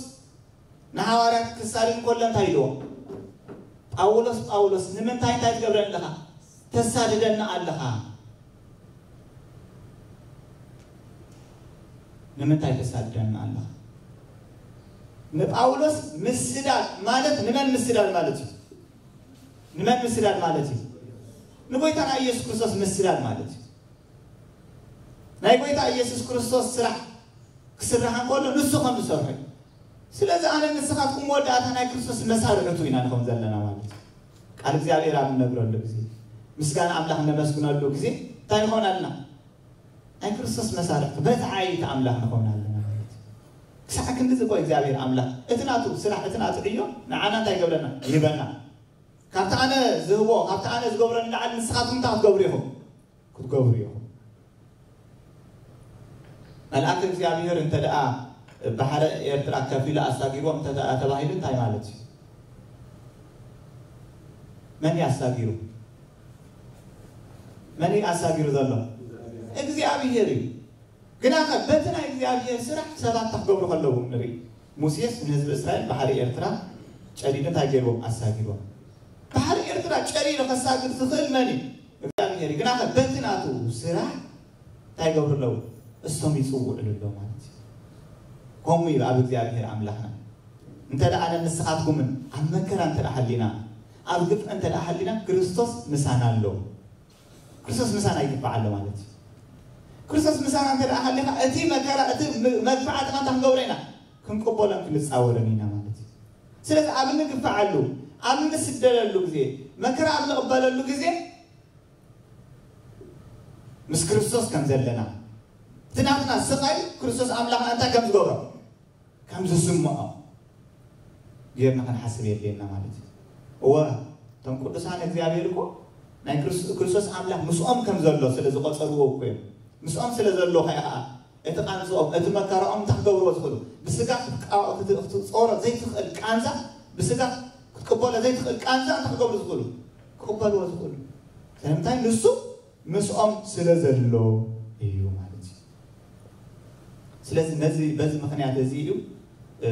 ንሃዋርያት ክሳድድ እንከሎ እንታይ ኢልዎ? ጳውሎስ ጳውሎስ ንምንታይ እንታይ ትገብረኒ ኣለኻ? ተሳድደኒ ኣለኻ። ንምንታይ ተሳድደኒ ኣለኻ? ንጳውሎስ ምስዳድ ማለት ንመን ምስዳድ ማለት እዩ? ንመን ምስዳድ ማለት እዩ? ንጎይታና ኢየሱስ ክርስቶስ ምስዳድ ማለት እዩ። ናይ ጎይታ ኢየሱስ ክርስቶስ ስራሕ ክስራሕ እንከሎ ንሱ ከም ዝሰርሖ እዩ። ስለዚ ኣነ ንስኻትኩም መወዳእታ ናይ ክርስቶስ መሳርሕቱ ኢና ንኸውን ዘለና ማለት እዩ። ቃል እግዚኣብሔር ኣብ እንነግረሉ ግዜ፣ ምስጋና ኣምላኽ እነመስግነሉ ግዜ እንታይ ንኸውን ኣለና? ናይ ክርስቶስ መሳርሕቲ፣ መትዓይይቲ ኣምላኽ ንኸውን ኣለና ማለት እዩ። ክሳዕ ክንድዚ እኮ እግዚኣብሔር ኣምላኽ እቲ ናቱ ስራሕ፣ እቲ ናቱ ዕዮ ንዓና እንታይ ይገብረና? ይህበና። ካብቲ ኣነ ዝህቦ፣ ካብቲ ኣነ ዝገብሮ ንላዕሊ ንስኻትኩም እንታይ ክትገብሩ ኢኹም? ክትገብሩ ኢኹም። መልኣክ እግዚኣብሔር እንተ ደኣ ባሕሪ ኤርትራ ከፊሉ ኣሳጊርዎም እንተ ተባሂሉ እንታይ ማለት እዩ? መን እዩ ኣሳጊሩ? መን እዩ ኣሳጊሩ ዘሎ? እግዚኣብሔር እዩ። ግና ኸ በቲ ናይ እግዚኣብሔር ስራሕ ሰባት እንታይ ክገብሩ ከለዉ ንርኢ። ሙሴስ ንህዝቢ እስራኤል ባሕሪ ኤርትራ ጨዲዱ እንታይ ገይርዎም? ኣሳጊርዎም። ባሕሪ ኤርትራ ጨዲዱ ከሳግር ዝኽእል መን እዩ? እግዚኣብሔር እዩ። ግና ኸ በቲ ናቱ ስራሕ እንታይ ይገብሩ ኣለዉ? እሶም ይጽውዕሉ ኣለዉ ማለት እዩ። ከምኡ እዩ ኣብ እግዚኣብሔር ኣምላኽና። እንተ ደኣ ኣነ ንስኻትኩምን ኣብ መከራ እንተ ደኣ ሃሊና፣ ኣብ ግፍዒ እንተ ደኣ ሃሊና፣ ክርስቶስ ምሳና ኣሎ። ክርስቶስ ምሳና ይግባዕ ኣሎ ማለት እዩ። ክርስቶስ ምሳና እንተ ደኣ ሃሊኻ፣ እቲ መከራ፣ እቲ ም-፣ መግፋዕቲ እንታይ ክንገብሮ ኢና? ክንቅበሎን ክንጻወርን ኢና ማለት እዩ። ስለዚ ኣብ እንግፋዓሉ፣ ኣብ እንስደደሉ ግዜ፣ መከራ ኣብ ንቕበለሉ ግዜ፣ ምስ ክርስቶስ ከም ዘለና፣ እቲ ናትና ስቓይ ክርስቶስ ኣምላኽና እንታይ ከም ዝገብሮ፣ ከም ዝስምዖ ጌርና ክንሓስብ የድልየና ማለት እዩ። እወ፣ እቶም ቅዱሳን እግዚኣብሔር እኮ ናይ ክርስ-፣ ክርስቶስ ኣምላኽ ምስኦም ከም ዘሎ ስለ ዝቖጸርዎ እኮ እዮም። ምስኦም ስለ ዘሎ ከኣ እቲ ቃንዝኦም፣ እቲ መከራኦም እንታይ ክገብርዎ ዝኽእሉ? ብስጋ ክትቃ-፣ ክት-፣ ክትጾሮ ዘይትኽእል ቃንዛ፣ ብስጋ ክትቅበሎ ዘይትኽእል ቃንዛ እንታይ ክገብሩ ዝኽእሉ? ክቕበልዎ ዝኽእሉ። ስለምንታይ? ንሱ ምስኦም ስለ ዘሎ እዩ ማለት እዩ። ስለዚ ነዚ፣ በዚ ምኽንያት እዚ እዩ፣ እ፣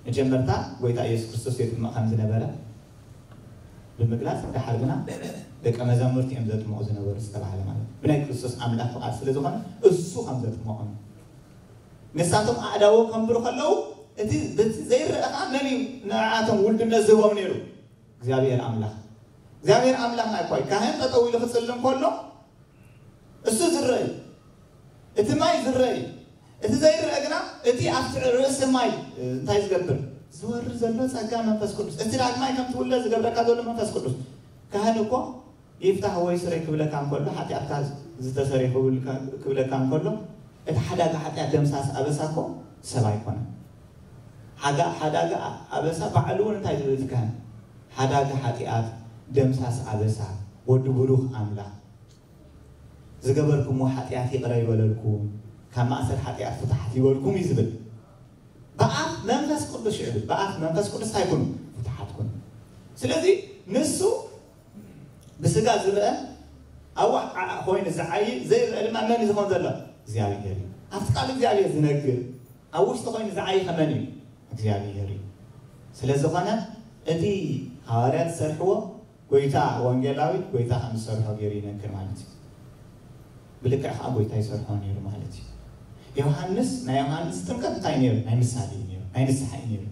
መጀመርታ ጎይታ ኢየሱስ ክርስቶስ የጥምቕ ከም ዝነበረ ብምግላጽ፣ ደሓር ግና ደቀ መዛሙርቲ እዮም ዘጥምቑ ዝነበሩ ዝተባህለ ማለት እዩ። ብናይ ክርስቶስ ኣምላኽ ፍቓድ ስለ ዝኾነ እሱ ከም ዘጥምቖም። ንሳቶም ኣእዳዎም ከንብሩ ከለዉ እቲ በቲ ዘይረኣ ኸኣ መን እዩ ንዓቶም ውልድነት ዝህቦም ነይሩ? እግዚኣብሔር ኣምላኽ። እግዚኣብሔር ኣምላኽ ናይ ኳይ ካህን ጠጠው ኢሉ ክጽሊ እንከሎ እሱ ዝረአ እዩ። እቲ ማይ ዝረአ እዩ። እቲ ዘይረአ ግና እቲ ኣብቲ ርእሲ ማይ እንታይ ዝገብር? ዝወርድ ዘሎ ጸጋ መንፈስ ቅዱስ። እቲ ዳግማይ ከም ትውለድ ዝገብረካ ዘሎ መንፈስ ቅዱስ። ካህን እኮ ይፍታሕ ወይ ስረይ ክብለካ እንከሎ፣ ሓጢኣትካ ዝተሰርየ ክብልካ-፣ ክብለካ እንከሎ፣ እቲ ሓዳጋ ሓጢኣት ደምሳስ ኣበሳ እኮ ሰብ ኣይኮነን። ሓጋ-፣ ሓዳጋ ኣበሳ ባዕሉ እውን እንታይ ዝብል እቲ ካህን? ሓዳጋ ሓጢኣት ደምሳስ ኣበሳ ወዲ ብሩኽ ኣምላኽ። ዝገበርኩምዎ ሓጢኣት ይቕረ ይበለልኩም፣ ካብ ማእሰር ሓጢኣት ፍትሓት ይበልኩም እዩ ዝብል። ብኣፍ መንፈስ ቅዱስ ይዕብል። ብኣፍ መንፈስ ቅዱስ እንታይ ኩኑ? ፍትሓት ኩኑ። ስለዚ ንሱ ብስጋ ዝረአ ኣዋዕ ዓዓ ኮይኑ ዝዓይ ዘይረአ ድማ መን እዩ ዝኾን ዘሎ? እግዚኣብሔር እዩ። ኣብቲ ቃል እግዚኣብሔር ዝነግር ኣብ ውሽጢ ኮይኑ ዝዓይ ከመን እዩ? እግዚኣብሔር እዩ። ስለ ዝኾነ እቲ ሃዋርያት ዝሰርሕዎ ጎይታ ወንጌላዊ ጎይታ ከም ዝሰርሖ ገይሩ ይነግር ማለት እዩ። ብልክዕ ከዓ ጎይታ ይሰርሖ ነይሩ ማለት እዩ። ዮሃንስ፣ ናይ ዮሃንስ ጥምቀት እንታይ ነይሩ? ናይ ምሳሌ እዩ ነይሩ፣ ናይ ንስሓ እዩ ነይሩ።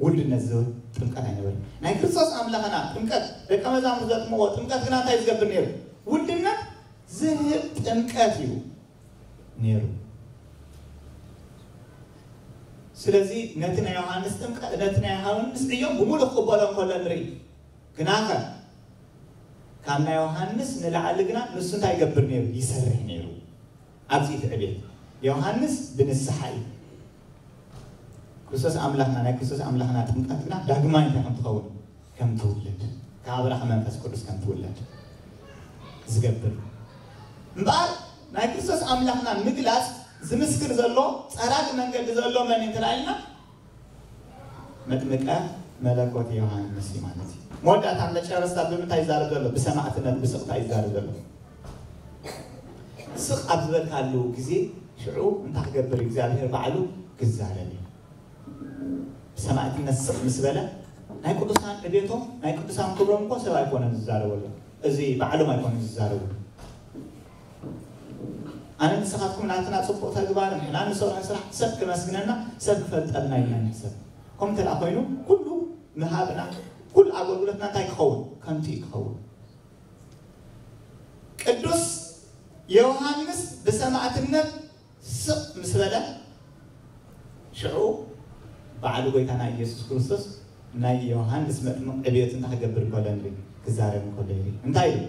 ውልድነት ዝብል ጥምቀት ኣይነበረን። ናይ ክርስቶስ ኣምላኽና ጥምቀት፣ ደቀ መዛሙርት ዘጥምቕዎ ጥምቀት ግና እንታይ ዝገብር ነይሩ? ውልድነት ዝህብ ጥምቀት እዩ ነይሩ። ስለዚ ነቲ ናይ ዮሃንስ ጥምቀት፣ ነቲ ናይ ዮሃንስ ዕዮ ብምሉእ ክቕበሎ እንከሎ ንርኢ። ግናኸ ካብ ናይ ዮሃንስ ንላዕሊ ግና ንሱ እንታይ ይገብር ነይሩ? ይሰርሕ ነይሩ። ኣብዚ እቲ ዕቤት ዮሃንስ ብንስሓ እዩ። ክርስቶስ ኣምላኽና፣ ናይ ክርስቶስ ኣምላኽና ጥምቀት ግና ዳግማይ እንታይ ከም ትኸውን? ከም ትውለድ፣ ካብ ኣብራኽ መንፈስ ቅዱስ ከም ትውለድ ዝገብር እዩ። እምበኣር ናይ ክርስቶስ ኣምላኽና ምግላጽ ዝምስክር ዘሎ ጸራጊ መንገዲ ዘሎ መን እዩ እንተላኢልና መጥምቀ መለኮት ዮሃንስ እዩ ማለት እዩ። መወዳእታ መጨረስታ ብምንታይ ይዛረብ ዘሎ? ብሰማዕትነት ብስቕታ ይዛረብ ዘሎ። ስቕ ኣብ ዝበልካሉ ግዜ ሽዑ እንታይ ክገብር እዩ? እግዚኣብሔር ባዕሉ ክዛረብ እዩ። ብሰማዕትነት ስቕ ምስ በለ ናይ ቅዱሳን ዕቤቶም ናይ ቅዱሳን ክብሮም እኮ ሰብ ኣይኮነን ዝዛረበሉ። እዚ ባዕሎም ኣይኮነን ዝዛረቡ። ኣነ ንስኻትኩም ናትና ጽቡቕ ተግባር ንሕና ንሰርሖ ስራሕ ሰብ ክመስግነና ሰብ ክፈልጠልና ኢልና ንሕሰብ። ከምኡ እንተ ደኣ ኮይኑ ኩሉ ምሃብና ኩሉ ኣገልግሎትና እንታይ ክኸውን? ከንቱ እዩ ክኸውን። ቅዱስ ዮሃንስ ብሰማዕትነት ስቕ ምስ በለ ሽዑ ባዕሉ ጎይታና ኢየሱስ ክርስቶስ ናይ ዮሃንስ መጥምቕ ዕብየት እንታይ ክገብር እንከሎ ንርኢ፣ ክዛረብ እንከሎ ይርኢ። እንታይ ኢሉ?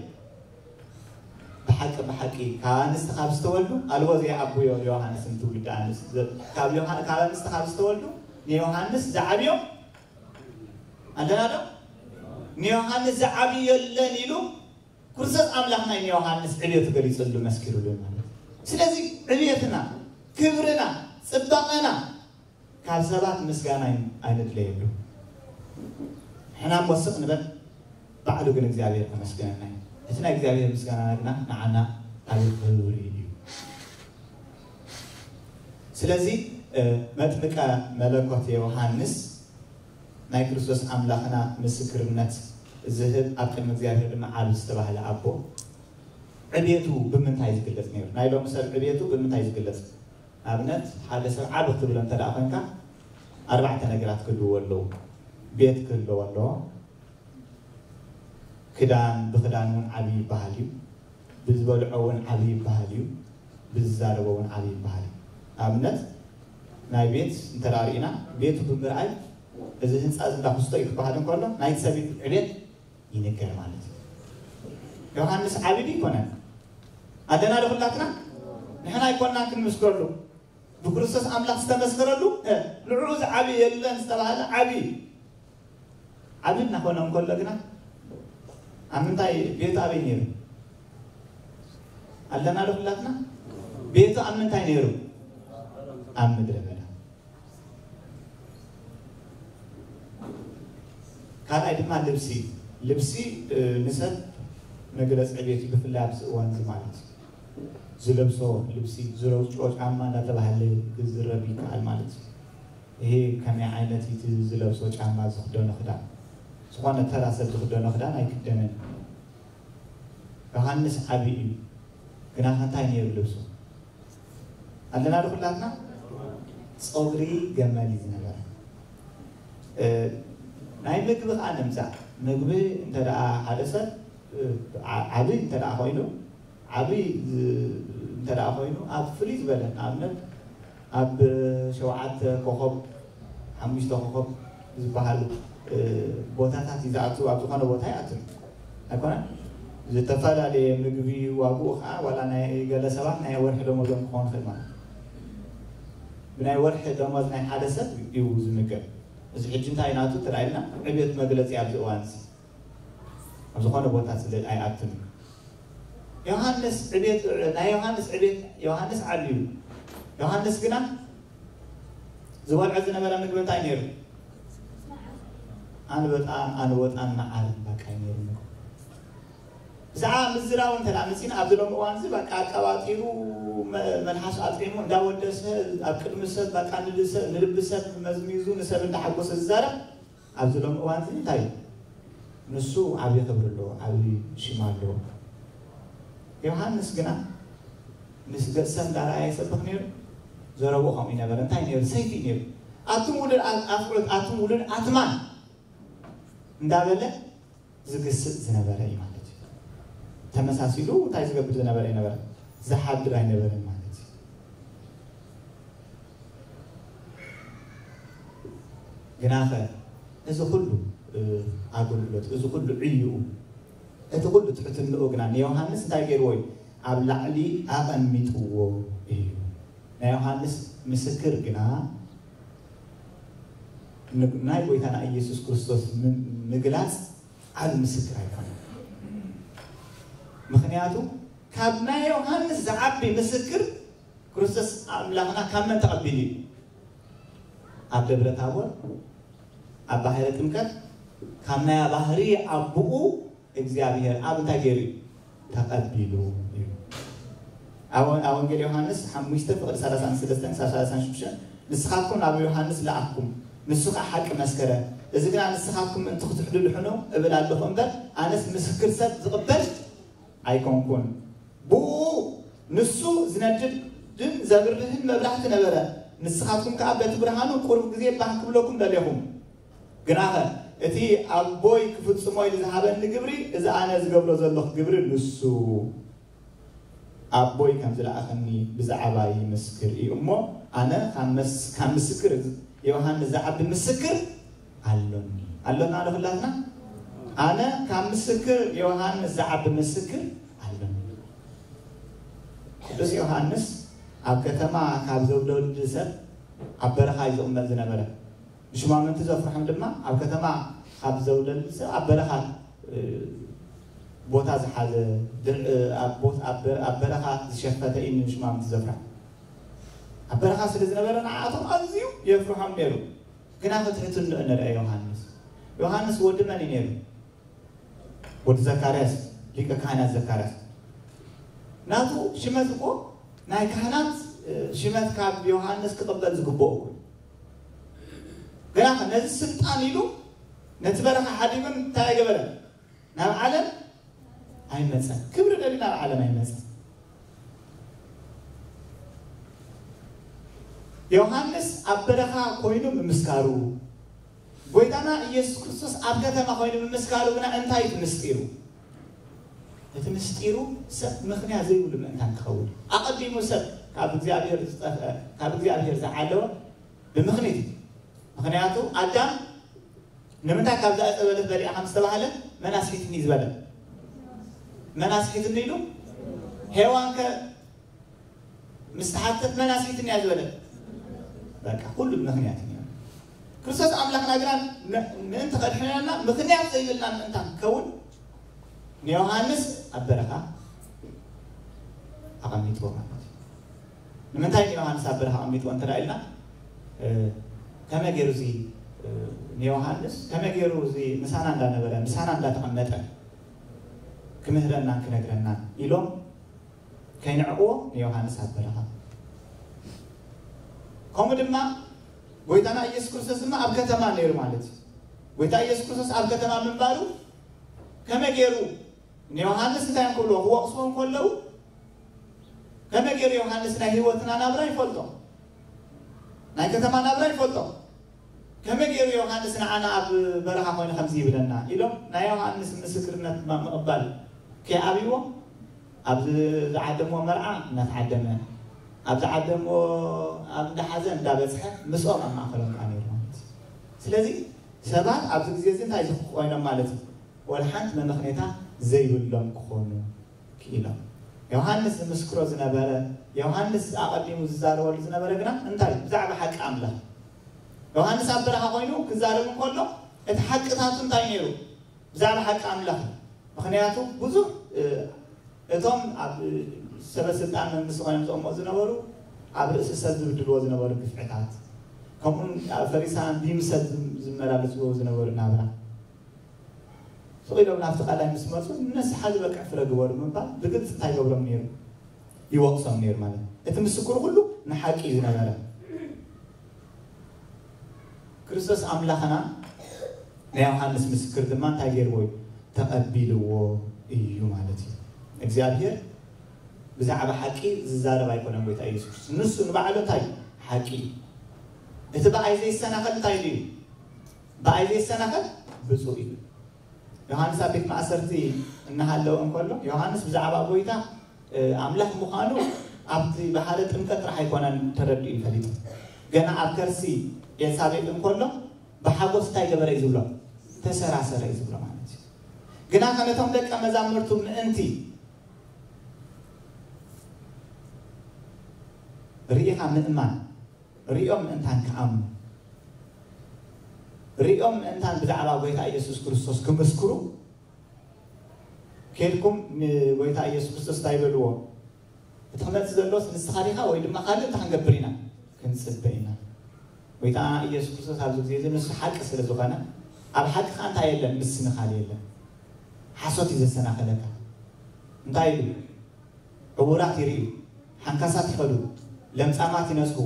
ብሓቂ ብሓቂ ካብ ኣንስቲ ካብ ዝተወልዱ ኣልቦ ዘይዓብዮ ዮሃንስ ንትውልዲ ኣንስቲ ዘ-፣ ካብ ዮሃ-፣ ካብ ኣንስቲ ካብ ዝተወልዱ ንዮሃንስ ዝዓብዮ ኣለና ዶ? ንዮሃንስ ዝዓብዮ የለን ኢሉ ክርስቶስ ኣምላኽ ናይ ንዮሃንስ ዕብየቱ ገሊጹሉ መስኪሩሉ ማለት እዩ። ስለዚ ዕብየትና፣ ክብርና፣ ጽባቐና ካብ ሰባት ምስጋና ኣይን- ኣይንድለየሉ። ሕና እሞ ስቕ ንበል፣ ባዕሉ ግን እግዚኣብሔር ከመስግነና እዩ። እቲ ናይ እግዚኣብሔር ምስጋና ግና ንዓና ዓብዪ ክብሪ እዩ። ስለዚ መጥምቀ መለኮት ዮሃንስ ናይ ክርስቶስ ኣምላኽና ምስክርነት ዝህብ፣ ኣብ ቅድሚ እግዚኣብሔር ድማ ዓቢ ዝተባህለ ኣቦ፣ ዕቤቱ ብምንታይ ዝግለጽ ነይሩ? ናይ ሎሚ ሰብ ዕቤቱ ብምንታይ ዝግለጽ? ኣብነት ሓደ ሰብ ዓቢ ክትብሎ እንተ ደኣ ኮንካ ኣርባዕተ ነገራት ክህልዎ ኣለዉ። ቤት ክህልዎ ኣለዎ። ክዳን ብክዳን እውን ዓቢ ይበሃል እዩ። ብዝበልዖ እውን ዓቢ ይበሃል እዩ። ብዝዛረቦ እውን ዓቢ ይበሃል እዩ። ኣብነት ናይ ቤት እንተ ደኣ ርኢና ቤቱ ብምርኣይ እዚ ህንፃ እዚ እንዳ ኩስቶ እዩ ክበሃል እንከሎ ናይቲ ሰብ ዕቤት ይንገር ማለት እዩ። ዮሃንስ ዓቢ ድዩ ይኮነን? ኣለና ዶ ኩላትና? ንሕና ኣይኮንና ክንምስክረሉ። ብክርስቶስ ኣምላኽ ዝተመስከረሉ ንዕኡ ዝዓቢ የለን ዝተባሃለ ዓቢ ዓቢ እናኾነ እንከሎ ግና ኣብ ምንታይ ቤቱ ኣበይ ነይሩ? ኣለና ዶ ኩላትና? ቤቱ ኣብ ምንታይ ነይሩ? ኣብ ምድረ በዳ። ካልኣይ ድማ ልብሲ። ልብሲ ንሰብ መግለፂ ዕቤት እዩ፣ ብፍላይ ኣብዚ እዋን እዚ ማለት እዩ። ዝለብሶ ልብሲ፣ ዝረግጾ ጫማ እናተባህለ ክዝረብ ይከኣል ማለት እዩ። ይሄ ከመይ ዓይነት እቲ ዝለብሶ ጫማ፣ ዝኽደኖ ክዳን፣ ዝኾነ ተራ ሰብ ዝኽደኖ ክዳን ኣይክደንን። ዮሃንስ ዓቢ እዩ፣ ግና ከ እንታይ ነይሩ ልብሱ? ኣለና ዶ ኩላትና? ጸጉሪ ገመል እዩ ዝነበረ። ናይ ምግቢ ከዓ ንምጻእ። ምግቢ እንተ ደኣ ሓደ ሰብ ዓቢ እንተ ደኣ ኮይኑ ዓብይ እንተ ደኣ ኮይኑ ኣብ ፍልይ ዝበለ ንኣብነት ኣብ ሸውዓተ ኮኸብ ሓሙሽተ ኮኸብ ዝበሃሉ ቦታታት እዩ ዝኣቱ። ኣብ ዝኾነ ቦታ ይኣቱ ኣይኮነን። ዝተፈላለየ ምግቢ ዋግኡ ከዓ ዋላ ናይ ገለ ሰባት ናይ ወርሒ ደሞዞም ክኸውን ይኽእል ማለት እዩ። ብናይ ወርሒ ደሞዝ ናይ ሓደ ሰብ እዩ ዝምገብ። እዚ ሕጂ እንታይ ናቱ ተላኢልና ዕብየት መግለፂ ኣብዚ እዋን እዚ ኣብ ዝኾነ ቦታ ስለ ኣይኣቱን እዩ። ዮሃንስ ዕቤት ናይ ዮሃንስ ዕቤት ዮሃንስ ዓብዩ ዮሃንስ ግና ዝበልዖ ዝነበረ ምግቢ እንታይ ነይሩ? ኣንበጣን ኣንበጣን መዓርን በቃ እዩ ነይሩ ምግቡ። ብዛዕባ ምዝራቡ እንተ መፂና ኣብዚ ሎሚ እዋን እዚ በቃ ኣቀባጢሩ መልሓሱ ኣጥዒሙ እንዳወደሰ ኣብ ቅድሚ ሰብ በቃ ንልቢ ሰብ መዝሚዙ ንሰብ እንዳሓጎሰ ዝዛረብ ኣብዚ ሎሚ እዋን እዚ እንታይ እዩ? ንሱ ዓብዪ ክብሪ ኣለዎ፣ ዓብዪ ሽም ኣለዎ። ዮሃንስ ግና ምስ ገጽ ሰብ እንዳረኣየ ይሰብኽ ነይሩ። ዘረብኡ ከምኡ ይነበረ። እንታይ ነይሩ? ሰይፊ ነይሩ። ኣቱም ውሉድ ኣፍዑት፣ ኣቱም ውሉድ ኣትማን እንዳበለ ዝግስጽ ዝነበረ እዩ ማለት እዩ። ተመሳሲሉ እንታይ ዝገብር ዝነበረ ይነበረ? ዝሓድር ኣይነበረን ማለት እዩ። ግናኸ እዚ ኩሉ ኣገልግሎት፣ እዚ ኩሉ ዕይኡ፣ እቲ ኩሉ ትሕትንኡ ግና ንዮሃንስ እንታይ ገይርዎ እዩ? ኣብ ላዕሊ ኣቐሚጥዎ እዩ። ናይ ዮሃንስ ምስክር ግና ናይ ጎይታና ኢየሱስ ክርስቶስ ምግላጽ ዓቢ ምስክር ኣይኮነን። ምኽንያቱ ካብ ናይ ዮሃንስ ዝዓቢ ምስክር ክርስቶስ ኣምላኽና ካብ መን ተቐቢሉ እዩ? ኣብ ደብረ ታቦር ኣብ ባሕረ ጥምቀት ካብ ናይ ባህሪ ኣቦኡ እግዚኣብሔር ኣብ እንታይ ገይሩ እዩ? ተቐቢሉ እዩ። ኣብ ኣብ ወንጌል ዮሃንስ ሓሙሽተ ፍቕዲ ሰላሳን ሰለስተን ክሳብ ሰላሳን ሽዱሽተን ንስኻትኩም ናብ ዮሃንስ ለኣኽኩም፣ ንሱ ኸዓ ሓቂ መስከረ። እዚ ግና ንስኻትኩም ምእንቲ ክትሕድድሕኑ እብል ኣለኹ እምበር፣ ኣነስ ምስክር ሰብ ዝቕበል ኣይኮንኩን። ብኡ ንሱ ዝነድድን ዘብርህን መብራህቲ ነበረ። ንስኻትኩም ከኣ በቲ ብርሃኑ ቁሩብ ግዜ ባህ ክብለኩም ደሌኹም። ግናኸ እቲ ኣቦይ ክፍጽሞ ኢሉ ዝሃበኒ ግብሪ፣ እዚ ኣነ ዝገብሮ ዘለኹ ግብሪ ንሱ ኣቦይ ከም ዝለኣኸኒ ብዛዕባይ ይምስክር እዩ እሞ፣ ኣነ ካብ መስ-፣ ካብ ምስክር ዮሃንስ ዝዓቢ ምስክር ኣሎኒ። ኣሎና ዶ ኩላትና? ኣነ ካብ ምስክር ዮሃንስ ዝዓቢ ምስክር ኣሎኒ። ቅዱስ ዮሃንስ ኣብ ከተማ ካብ ዘውለዱ ሰብ ኣብ በረኻ እዩ ዝቕመጥ ዝነበረ። ንሹማምንቲ ዘፍርሖም ድማ ኣብ ከተማ ካብ ዘውለዱ ሰብ ኣብ በረኻ፣ እ፣ ቦታ ዝሓዘ፣ ድር-፣ እ፣ ኣብ ቦት-፣ ኣብ በ-፣ ኣብ በረኻ ዝሸፈተ እዩ ንሹማምንቲ ዘፍርሖም። ኣብ በረኻ ስለ ዝነበረ ንዓኣቶም ኣዝዩ የፍርሖም ነይሩ። ግና ክትሕትንኡ ንርአ ዮሃንስ። ዮሃንስ ወዲ መን እዩ ነይሩ? ወዲ ዘካርያስ፣ ሊቀ ካህናት ዘካርያስ። ናቱ ሽመት እኮ ናይ ካህናት ሽመት ካብ ዮሃንስ ክቕበል ዝግብኦ እኮ። ግና ነዚ ስልጣን ኢሉ ነቲ በረኻ ሓዲጉ እንታይ ኣይገበረን? ናብ ዓለም ኣይመፀን። ክብሪ ደልዩ ናብ ዓለም ኣይመፀን። ዮሃንስ ኣብ በረኻ ኮይኑ ምምስካሩ፣ ጎይታና ኢየሱስ ክርስቶስ ኣብ ከተማ ኮይኑ ምምስካሩ ግና እንታይ እቲ ምስጢሩ? እቲ ምስጢሩ ሰብ ምኽንያት ዘይብሉ ምእንታን ክኸውን። ኣቐዲሙ ሰብ ካብ እግዚኣብሔር ዝጠፍአ፣ ካብ እግዚኣብሔር ዝዓለወ ብምኽኒት እዩ። ምኽንያቱ ኣዳም ንምንታይ ካብዛ ዕፀ በለስ በሊዓ ከም ዝተባህለ መን ኣስሒትኒ ዝበለ? መን ኣስሒትኒ ኢሉ? ሄዋን ከ ምስ ተሓተት መን ኣስሒትኒ እያ ዝበለ? በቃ ኩሉ ምኽንያት እዩ። ክርስቶስ ኣምላኽና ግና ን- ምእንቲ ከድሕነና ምኽንያት ዘይብልና ምእንታን ክኸውን ንዮሃንስ ኣብ በረኻ ኣቐሚጥዎ ማለት እዩ። ንምንታይ ንዮሃንስ ኣብ በረኻ ኣቐሚጥዎ እንተ ኢልና ከመይ ገይሩ እዚ ንዮሃንስ ከመይ ገይሩ እዚ ምሳና እንዳነበረ ምሳና እንዳተቐመጠ ክምህረናን ክነግረናን ኢሎም ከይንዕቕዎ ንዮሃንስ ኣብ በረኻ። ከምኡ ድማ ጎይታና ኢየሱስ ክርስቶስ ድማ ኣብ ከተማ ነይሩ ማለት እዩ። ጎይታ ኢየሱስ ክርስቶስ ኣብ ከተማ ምንባሩ ከመይ ገይሩ ንዮሃንስ እንታይ ክብልዎ ክወቕስዎ ከለዉ ከመይ ገይሩ ዮሃንስ ናይ ህይወትና ናብራ ይፈልጦ? ናይ ከተማ ናብራ ይፈልጦ? ከመይ ገይሩ ዮሃንስ ንዓና ኣብ በረኻ ኮይኑ ከምዚ ይብለና ኢሎም ናይ ዮሃንስ ምስክርነት ድማ ምቕባል ከይኣብይዎ ኣብ ዝዓደምዎ መርዓ እናተዓደመ ኣብ ዝዓደምዎ ኣብ እንዳሓዘ እንዳበፅሐ ምስኦም ኣብ ማእከሎም ከዓ ነይሩ ማለት እዩ። ስለዚ ሰባት ኣብዚ ግዜ እዚ እንታይ ዝኽኮይኖም ማለት እዩ? ወላ ሓንቲ መመኽኔታ ዘይብሎም ክኾኑ ክኢሎም። ዮሃንስ ዝምስክሮ ዝነበረ ዮሃንስ ኣቐዲሙ ዝዛረበሉ ዝነበረ ግና እንታይ ብዛዕባ ሓቂ ኣምላኽ ዮሃንስ ኣብ በረኻ ኮይኑ ክዛረብ እንከሎ እቲ ሓቅታቱ እንታይ ነይሩ? ብዛዕባ ሓቂ ኣምላኽ። ምኽንያቱ ብዙሕ እቶም ኣብ ሰበ ስልጣን መንግስቲ ኮይኖም ዝቕመጡ ዝነበሩ ኣብ ርእሲ ሰብ ዝብድልዎ ዝነበሩ ግፍዕታት ከምኡ ፈሪሳን ቢምሰል ዝመላለስዎ ዝነበሩ ናብራ ስቕ ኢሎም ናብቲ ቃላይ ምስ መፁ ንስሓ ዝበቅዕ ፍረ ግበሩ ምባል ብግልፂ እንታይ ይገብሮም ነይሩ? ይወቕሶም ነይሩ ማለት እዩ። እቲ ምስክሩ ኩሉ ንሓቂ እዩ ዝነበረ። ክርስቶስ ኣምላኽና ናይ ዮሃንስ ምስክር ድማ እንታይ ገይርዎ እዩ? ተቐቢልዎ እዩ ማለት እዩ። እግዚኣብሔር ብዛዕባ ሓቂ ዝዛረብ ኣይኮነን ጎይታ ኢየሱስ ክርስቶስ። ንሱ ንባዕሉ እንታይ ሓቂ እዩ። እቲ ብኣይ ዘይሰናኸል እንታይ ኢሉ እዩ? ብኣይ ዘይሰናኸል ብፁዕ እዩ። ዮሃንስ ኣብ ቤት ማእሰርቲ እናሃለወ እንከሎ ዮሃንስ ብዛዕባ ጎይታ ኣምላኽ ምዃኑ ኣብቲ ባሕረ ጥምቀት ጥራሕ ኣይኮነን ተረዲኡ ፈሊጡ። ገና ኣብ ከርሲ ኤልሳቤጥ እንከሎ ብሓጎስ እንታይ ገበረ እዩ ዝብሎ? ተሰራሰረ እዩ ዝብሎ ማለት እዩ። ግና ከነቶም ደቀ መዛምርቱ ምእንቲ ርኢኻ ምእማን ሪኦም ምእንታን ክኣምኑ ሪኦም ምእንታን ብዛዕባ ጎይታ ኢየሱስ ክርስቶስ ክምስክሩ ኬድኩም ንጎይታ ኢየሱስ ክርስቶስ እንታይ በልዎ? እቲ ክመፅእ ዘሎስ ንስኻ ዲኻ ወይ ድማ ካልእ እንታይ ክንገብር ኢና? ክንፅበ ኢና። ጎይታ ኢየሱስ ክርስቶስ ኣብዚ ግዜ እዚ ንሱ ሓቂ ስለ ዝኾነ ኣብ ሓቂ ከዓ እንታይ የለን? ምስንኻል የለን። ሓሶት እዩ ዘሰናኸለካ። እንታይ ኢሉ? ዕዉራት ይርእዩ፣ ሓንካሳት ይኸዱ፣ ለምጻማት ይነጽሁ፣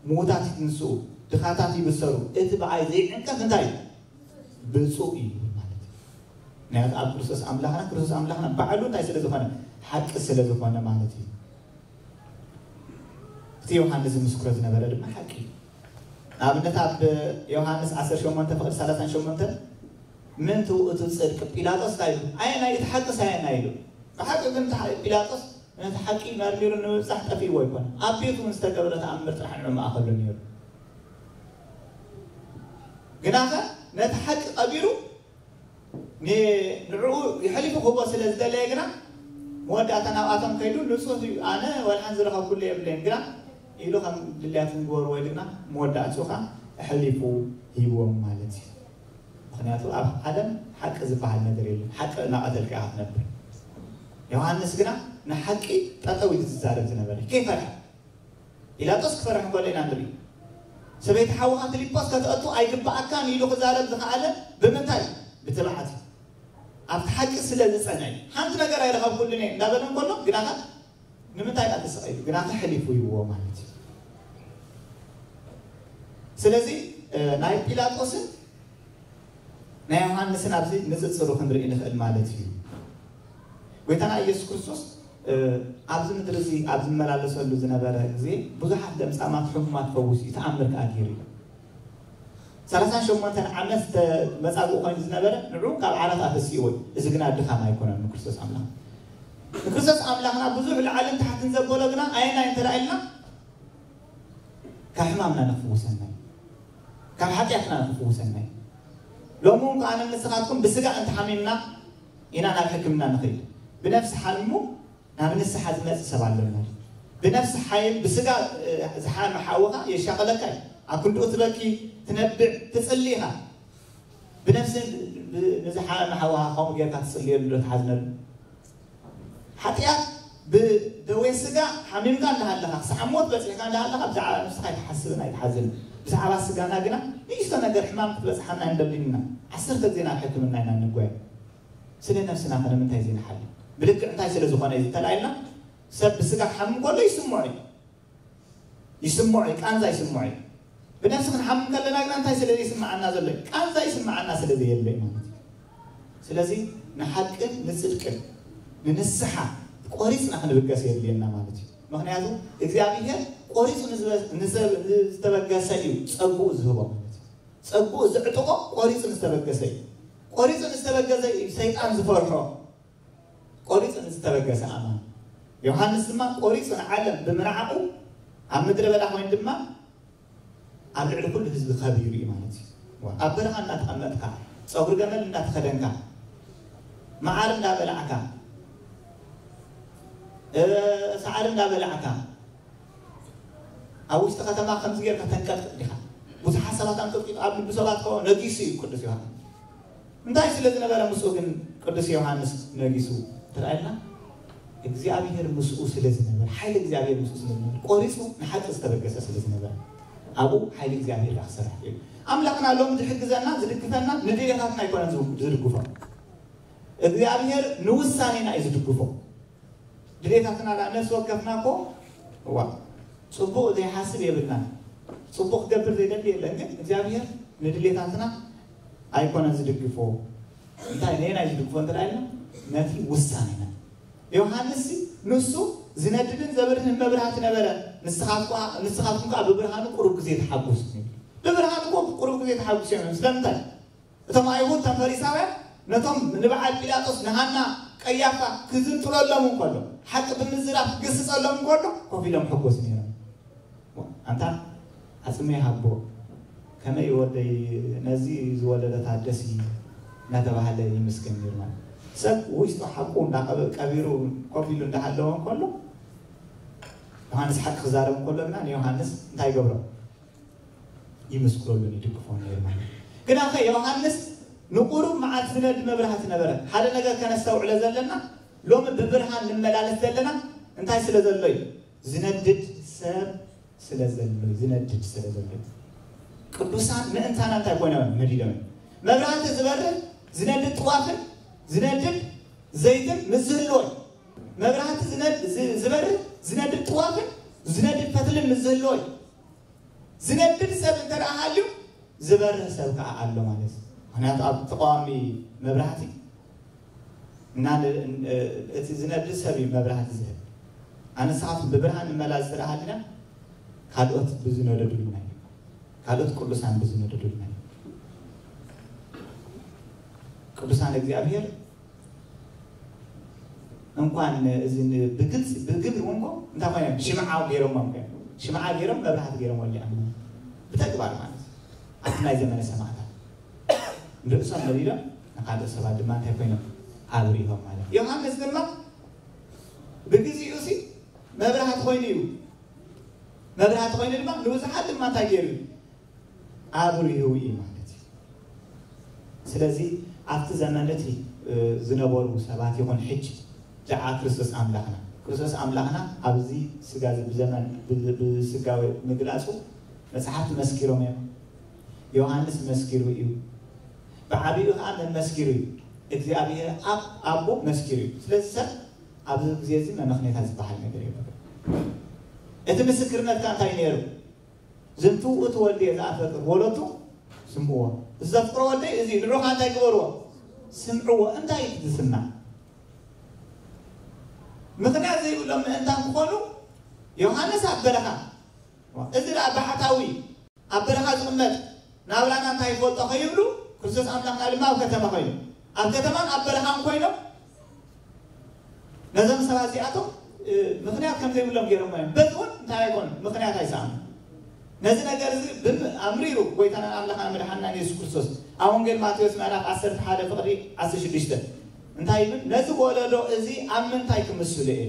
ምዉታት ይትንስኡ፣ ድኻታት ይብሰሩ፣ እቲ ብኣይ ዘይዕንቀፍ እንታይ እዩ? ብፁዕ እዩ ማለት እዩ። ምክንያቱ ኣብ ክርስቶስ ኣምላኽና ክርስቶስ ኣምላኽና ባዕሉ እንታይ ስለ ዝኾነ ሓቂ ስለ ዝኾነ ማለት እዩ። እቲ ዮሃንስ ዝምስክሮ ዝነበረ ድማ ሓቂ እዩ። ንኣብነት ኣብ ዮሃንስ ዓሰርተ ሸሞንተ ፍቕዲ ሰላሳን ሸሞንተ ምእንቲ ውእቱ ጽድቅ ጲላጦስ እንታይ ኢሉ? ኣየናይ እቲ ሓቅስ ኣየናይ ኢሉ? ብሓቂ ግን እቲ ሓ- ፒላጦስ ነቲ ሓቂ መርሚሩ ንምብጻሕ ጠፊእዎ ኣይኮነን። ኣብ ቤቱ ንዝተገብረ ተኣምር ጥራሕ ንዕኡ መኣኸሉ ነይሩ። ግናኸ ነቲ ሓቂ ቀቢሩ ንዕኡ የሕሊፉ ክህቦ ስለ ዝደለየ ግና መወዳእታ ናብኣቶም ከይዱ ንጹህ እዩ ኣነ ወልሓን ዝረኸብኩሉ የብለይን ግና ኢሉ ከም ድልያት ንግበሩ ወይ ድማ መወዳእትኡ ኸዓ ኣሕሊፉ ሂብዎም ማለት እዩ። ምክንያቱ ኣብ ዓለም ሓቂ ዝበሃል ነገር የለን። ሓቂ እናቐተልካ ኢኻ ትነብር። ዮሃንስ ግና ንሓቂ ጠጠው ኢሉ ዝዛረብ ዝነበረ ከይፈርሐ ጲላጦስ ክፈርሕ እንከሎ ኢና ንርኢ። ሰበይቲ ሓውኻ ፊልጶስ ከተእቱ ኣይግብኣካን ኢሉ ክዛረብ ዝኸኣለ ብምንታይ? ብትብዓት እዩ። ኣብቲ ሓቂ ስለ ዝጸንዐ እዩ። ሓንቲ ነገር ኣይረኸብኩሉን እየ እንዳበለ እንከሎ ግናኸ ንምንታይ ኢና ተሰቒሉ? ግናኸ ሕሊፉ ይብዎ ማለት እዩ። ስለዚ ናይ ጲላጦስን ናይ ዮሃንስን ኣብዚ ንፅፅሩ ክንርኢ ንኽእል ማለት እዩ። ጎይታና ኢየሱስ ክርስቶስ ኣብዚ ምድሪ እዚ ኣብ ዝመላለሰሉ ዝነበረ ግዜ ብዙሓት ለምጻማት፣ ሕሙማት ፈውስ እዩ፣ ተኣምር ከዓ ገይሩ እዩ። ሰላሳን ሸሞንተን ዓመት መጻጉዕ ኮይኑ ዝነበረ ንዑ ካብ ዓራት ኣተሲእዎ እዩ። እዚ ግና ድኻም ኣይኮነን ንክርስቶስ ኣምላኽ። ንክርስቶስ ኣምላኽና ብዙሕ ላዕልን ታሕትን ዘበሎ ግና ኣየናይ እንተ ኢልና ካብ ሕማምና ንክፍውሰና እዩ። ካብ ሓጢኣትና ንክፍውሰና እዩ። ሎሚ እውን ከኣ ንስኻትኩም ብስጋ እንተሓሚምና ኢና ናብ ሕክምና ንኸይድ። ብነፍሲ ሓሚሙ ናብ ንስሓ ዝመጽእ ሰብ ኣሎ ማለት እዩ። ብነፍሲ ሓይም ብስጋ ዝሓመ ሓውኻ የሻቕለካ እዩ። ኣብ ክንድኡ ትበኪ፣ ትነብዕ፣ ትጽሊ ኢኻ። ብነፍሲ ንዝሓመ ሓውኻ ከምኡ ጌርካ ትጽልየሉ ዶ ትሓዝነሉ? ሓጢኣት ብደዌ ስጋ ሓሚምካ እንዳሃለኻ ክሳዕ ሞት በጺሕካ እንዳሃለኻ ብዛዕባ ነፍስኻ ኣይትሓስብን ኣይትሓዝን። ብዛዕባ ስጋና ግና ንእሽቶ ነገር ሕማም ክትበጽሓና ኣይንደልን ኢና። ዓሰርተ ግዜ ናብ ሕክምና ኢና እንጓየ። ስለ ነፍስና ከ ንምንታይ ዘይንሓሊ? ብልክዕ እንታይ ስለ ዝኾነ እዩ ዝተላኢልና? ሰብ ብስጋ ክሓምም ከሎ ይስምዖ እዩ። ይስምዖ እዩ፣ ቃንዛ ይስምዖ እዩ። ብነፍሲ ክንሓምም ከለና ግና እንታይ ስለ ዘይስምዓና ዘሎ እዩ? ቃንዛ ይስምዓና ስለ ዘየለ እዩ ማለት እዩ። ስለዚ ንሓቅን ንጽድቅን ንንስሓ ቆሪጽና ክንብገስ የድልየና ማለት እዩ። ምክንያቱ እግዚኣብሔር ቆሪጹ ንዝበ- ንዘ- ንዝተበገሰ እዩ ጸግኡ ዝህቦ ማለት እዩ። ጸግኡ ዝዕጥቆ ቆሪጹ ንዝተበገሰ እዩ። ቆሪጹ ንዝተበገሰ እዩ ሰይጣን ዝፈርሖ። ቆሪጹ ንዝተበገሰ ኣማን። ዮሃንስ ድማ ቆሪጹ ንዓለም ብምንዓቑ ኣብ ምድረ በዳ ኮይኑ ድማ ኣብ ልዕሊ ኩሉ ህዝቢ ከቢሩ እዩ ማለት እዩ። ኣብ በረኻ እንዳተቐመጥካ፣ ጸጉሪ ገመል እንዳተኸደንካ፣ መዓር እንዳበላዕካ፣ እ፣ ሳዕሪ እንዳበላዕካ፣ ኣብ ውሽጢ ከተማ ከምዚ ጌርካ ተንቀጥቅጥ ዲኻ? ብዙሓት ሰባት ኣንቀጥቂጡ ኣብ ልቢ ሰባት ከ ነጊሱ እዩ ቅዱስ ዮሃንስ። እንታይ ስለ ዝነበረ ምስኡ ግን ቅዱስ ዮሃንስ ነጊሱ ትርኣየና? እግዚኣብሔር ምስኡ ስለ ዝነበረ፣ ሓይሊ እግዚኣብሔር ምስኡ ስለ ዝነበረ፣ ቆሪጹ ንሓቂ ዝተበገሰ ስለ ዝነበረ፣ ኣብኡ ሓይሊ እግዚኣብሔር ደኣ ክሰርሕ እዩ። ኣምላኽና ሎም ዝሕግዘና፣ ዝድግፈና፣ ንድሌታትና ኣይኮነን ዝድግፎ። እግዚኣብሔር ንውሳኔና እዩ ዝድግፎ። ድሌታትና ደኣ ነፍሲ ወከፍና እኮ፣ እዋ፣ ጽቡቕ ዘይሓስብ የብልናን። ጽቡቕ ክገብር ዘይደሊ የለን። ግን እግዚኣብሔር ንድሌታትና ኣይኮነን ዝድግፎ። እንታይ ነየናይ ዝድግፎ እንተ ደኣ ኢልና፣ ነቲ ውሳኔና። ዮሃንስ ንሱ ዝነድድን ዘብርህን መብራህቲ ነበረ። ንስኻትኳ-፣ ንስኻትኩም ከኣ ብብርሃኑ ቁሩብ ግዜ ተሓጉሱ። ብብርሃኑ እኮ ቁሩብ ግዜ ተሓጉሱ እዮም። ስለምንታይ? እቶም ኣይሁድ፣ እቶም ፈሪሳውያን ነቶም ንበዓል ጲላጦስ፣ ንሃና፣ ቀያፋ ክዝንጥለሎም እንከሎ፣ ሓቂ ብምዝራብ ክግስጸሎም እንከሎ ኮፍ ኢሎም ሕጎስ ነይሮም። ኣንታ ዓጽመይ ሃቦ፣ ከመይ ወደይ ነዚ ዝወለደታ ደስ እናተባህለ ይምስገን ነይሩ ማለት። ሰብ ውሽጡ ሓቁ እንዳቀበ-፣ ቀቢሩ ኮፍ ኢሉ እንዳሃለወ እንከሎ፣ ዮሃንስ ሓቂ ክዛረብ እንከሎ ግና ንዮሃንስ እንታይ ይገብሮ? ይምስክረሉን ይድግፎን ነይሩ ማለት እዩ። ግናኸ ዮሃንስ ንቁሩብ መዓት ዝነድ መብራህቲ ነበረ። ሓደ ነገር ከነስተውዕሎ ዘለና፣ ሎሚ ብብርሃን ንመላለስ ዘለና እንታይ ስለ ዘሎ እዩ? ዝነድድ ሰብ ስለ ዘሎ እዩ። ዝነድድ ስለ ዘሎ እዩ። ቅዱሳን ምእንታና እንታይ ኮይኖም እዮም? ነዲዶም እዮም። መብራህቲ ዝበርህ ዝነድድ ጥዋፍን ዝነድድ ዘይትን ምስ ዝህልዎ እዩ። መብራህቲ ዝነድ-፣ ዝ-፣ ዝበርህ ዝነድድ ጥዋፍን ዝነድድ ፈትልን ምስ ዝህልዎ እዩ። ዝነድድ ሰብ እንተ ደኣ ሃልዩ፣ ዝበርህ ሰብ ከኣ ኣሎ ማለት እዩ። ምኽንያቱ ኣብ ተቃዋሚ መብራህቲ እና ን-፣ እ-፣ እቲ ዝነድድ ሰብ እዩ መብራህቲ ዝህብ። ኣነ ንስኻትኩም ብብርሃን ንመላለስ እንተ ደኣ ሃሊና፣ ካልኦት ብዝነደዱልና እዩ። ካልኦት ቅዱሳን ብዝነደዱልና እዩ። ቅዱሳን እግዚኣብሔር እንኳን እዚ ን-፣ ብግልፂ፣ ብግብሪ እውን እኮ እንታይ ኮይኖም? ሽምዓ ገይሮሞም እዮም። ሽምዓ ገይሮም፣ መብራህቲ ገይሮም ወሊዖም። ብተግባር ማለት እዩ። ኣብቲ ናይ ዘመነ ሰማዕታት ንርእሶም ነዲዶም፣ ንኻልኦት ሰባት ድማ እንታይ ኮይኖም? ኣብሪሆም ማለት እዩ። ዮሃንስ ድማ ብግዜኡ ሲ መብራህቲ ኮይኑ እዩ። መብራህቲ ኮይኑ ድማ ንብዙሓት ድማ እንታይ ገይሩ እዩ? ኣብሪሁ እዩ ማለት እዩ። ስለዚ ኣብቲ ዘመን እቲ፣ እ፣ ዝነበሩ ሰባት ይኹን ሕጂ ደኣ ክርስቶስ ኣምላኽና ክርስቶስ ኣምላኽና ኣብዚ ስጋ እዚ ብዘመን ብ- ብስጋዊ ምግላጹ መጽሓፍቲ መስኪሮም እዮም። ዮሃንስ መስኪሩ እዩ። ብዓቢኡ ከዓ መን መስኪሩ እዩ? እግዚኣብሔር ኣብ ኣቦ መስኪሩ እዩ። ስለዚ ሰብ ኣብዚ ግዜ እዚ መመኽኔታ ዝበሃል ነገር የብሉ። እቲ ምስክርነት ከዓ እንታይ ነይሩ? ዝንቱ ውእቱ ወልድየ ዘኣፈቅር ወለቱ ስምዕዎ። እዚ ዘፍቅሮ ወልደይ እዚ እዩ፣ ንዑኻ እንታይ ግበርዎ? ስምዕዎ። እንታይ እዩ ዝስማዕ? ምኽንያት ዘይብሎም ምእንታን ክኾኑ ዮሃንስ ኣብ በረኻ፣ እዚ ደኣ ባሕታዊ ኣብ በረኻ ዝቕመጥ ናብራና እንታይ ይፈልጦ ከይብሉ፣ ክርስቶስ ኣምላኽና ድማ ኣብ ከተማ ኮይኑ፣ ኣብ ከተማን ኣብ በረኻን ኮይኖም ነዞም ሰባት እዚኣቶም ምኽንያት ከም ዘይብሎም ገይሮም እዮም። በዚ እውን እንታይ ኣይኮኑ፣ ምኽንያት ኣይሰኣኑ። ነዚ ነገር እዚ ኣምሪሩ ጎይታናን ኣምላኽና መድሓንናን የሱስ ክርስቶስ ኣብ ወንጌል ማቴዎስ ምዕራፍ ዓሰርተ ሓደ ፍቕዲ ዓሰርተ ሽዱሽተ እንታይ ይብል? ነዚ ወለዶ እዚ ኣብ ምንታይ ክምስሉ እየ?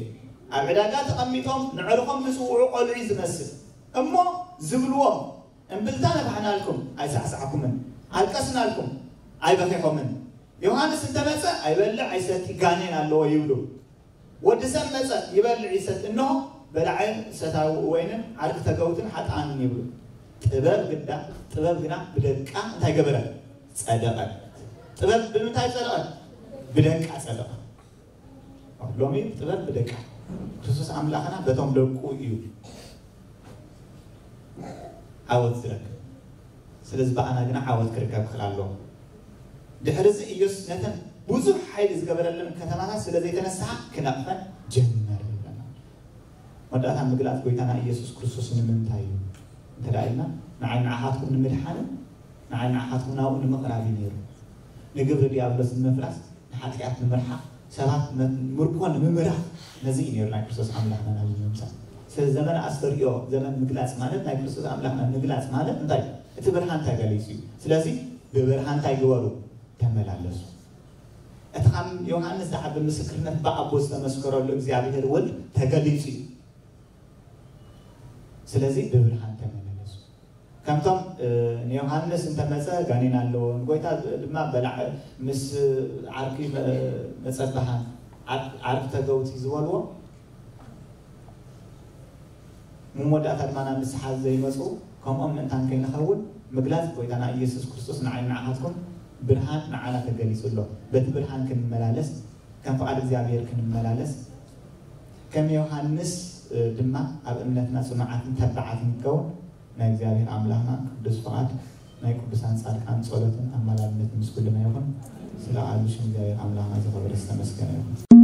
ኣብ ዕዳጋ ተቐሚጦም ንዕርኾም ዝጽውዑ ቆልዑ ዝመስል እሞ ዝብልዎም፣ እምብልታ ነፋሕናልኩም ኣይሳዕሳዕኩምን፣ ኣልቀስናልኩም ኣይበኺኹምን። ዮሃንስ እንተመጸ ኣይበልዕ ኣይሰቲ፣ ጋኔን ኣለዎ ይብሉ። ወዲ ሰብ መጸ ይበልዕ ይሰቲ፣ እንሆ በላዒ ሰታዊ ወይንን ዓርኪ ተገውትን ሓጥኣንን ይብሉ። ጥበብ ግዳ ጥበብ ግና ብደቃ እንታይ ገበረት? ጸደቐት። ጥበብ ብምንታይ ጸደቐት? ብደቃ ጸደቐት። ሎሚ ጥበብ ብደቃ። ክርስቶስ ኣምላኽና በቶም ደቁ እዩ ዓወት ዝረክብ። ስለዚ ብኣና ግና ዓወት ክርከብ ክኽእል ኣለዎ። ድሕሪ እዚ ኢየሱስ ነተን ብዙሕ ሓይሊ ዝገበረለን ከተማታት ስለ ዘይተነስሓ ክነቕፈን ጀመረ ይብለና። መወዳእታ ምግላጽ ጎይታና ኢየሱስ ክርስቶስ ንምንታይ እዩ እንተ ደኣ ኢልና፣ ንዓይ ንዓኻትኩም ንምድሓንን ንዓይ ንዓኻትኩም ናብኡ ንምቕራብ እዩ ነይሩ። ንግብሪ ዲያብሎስ ንምፍራስ፣ ንሓጢኣት ንምርሓቕ፣ ሰባት መ- ምርኮ ንምምራሕ፣ ነዚ እዩ ነይሩ ናይ ክርስቶስ ኣምላኽና ናብ ምምጻእ። ስለዚ ዘመን ኣስተርእዮ፣ ዘመን ምግላጽ ማለት ናይ ክርስቶስ ኣምላኽና ምግላጽ ማለት እንታይ? እቲ ብርሃን እንታይ ገሊጹ እዩ። ስለዚ ብብርሃን እንታይ ግበሩ? ተመላለሱ። እቲ ካብ ዮሃንስ ዝዓቢ ምስክርነት ብኣቦ ዝተመስከረሉ እግዚኣብሔር ወልድ ተገሊጹ እዩ። ስለዚ ብብርሃን ተመላለሱ። ከምቶም ንዮሃንስ እንተመጸ ጋኔን ኣለዎ፣ ንጎይታ ድማ በላዕ ምስ ዓርኪ መጸባሃን ዓርኪ ተገውቲ ዝበልዎ መወዳእታ ድማ ናብ ንስሓ ዘይመጹ ከምኦም ምእንታን ከይንኸውን ምግላጽ ጎይታና ኢየሱስ ክርስቶስ ንዓይ ንዓኻትኩም ብርሃን ንዓና ተገሊጹ ኣሎ። በቲ ብርሃን ክንመላለስ ከም ፍቓድ እግዚኣብሔር ክንመላለስ ከም ዮሃንስ ድማ ኣብ እምነትና ጽኑዓትን ተባዓትን ንከውን ናይ እግዚኣብሔር ኣምላኽና ቅዱስ ፍቓድ ናይ ቅዱሳን ጻድቃን ጸሎትን ኣማላድነትን ምስ ኩልና ይኹን። ስለ ቃሉ ሽም እግዚኣብሔር ኣምላኽና ዝኸበረ ዝተመስገነ ይኹን።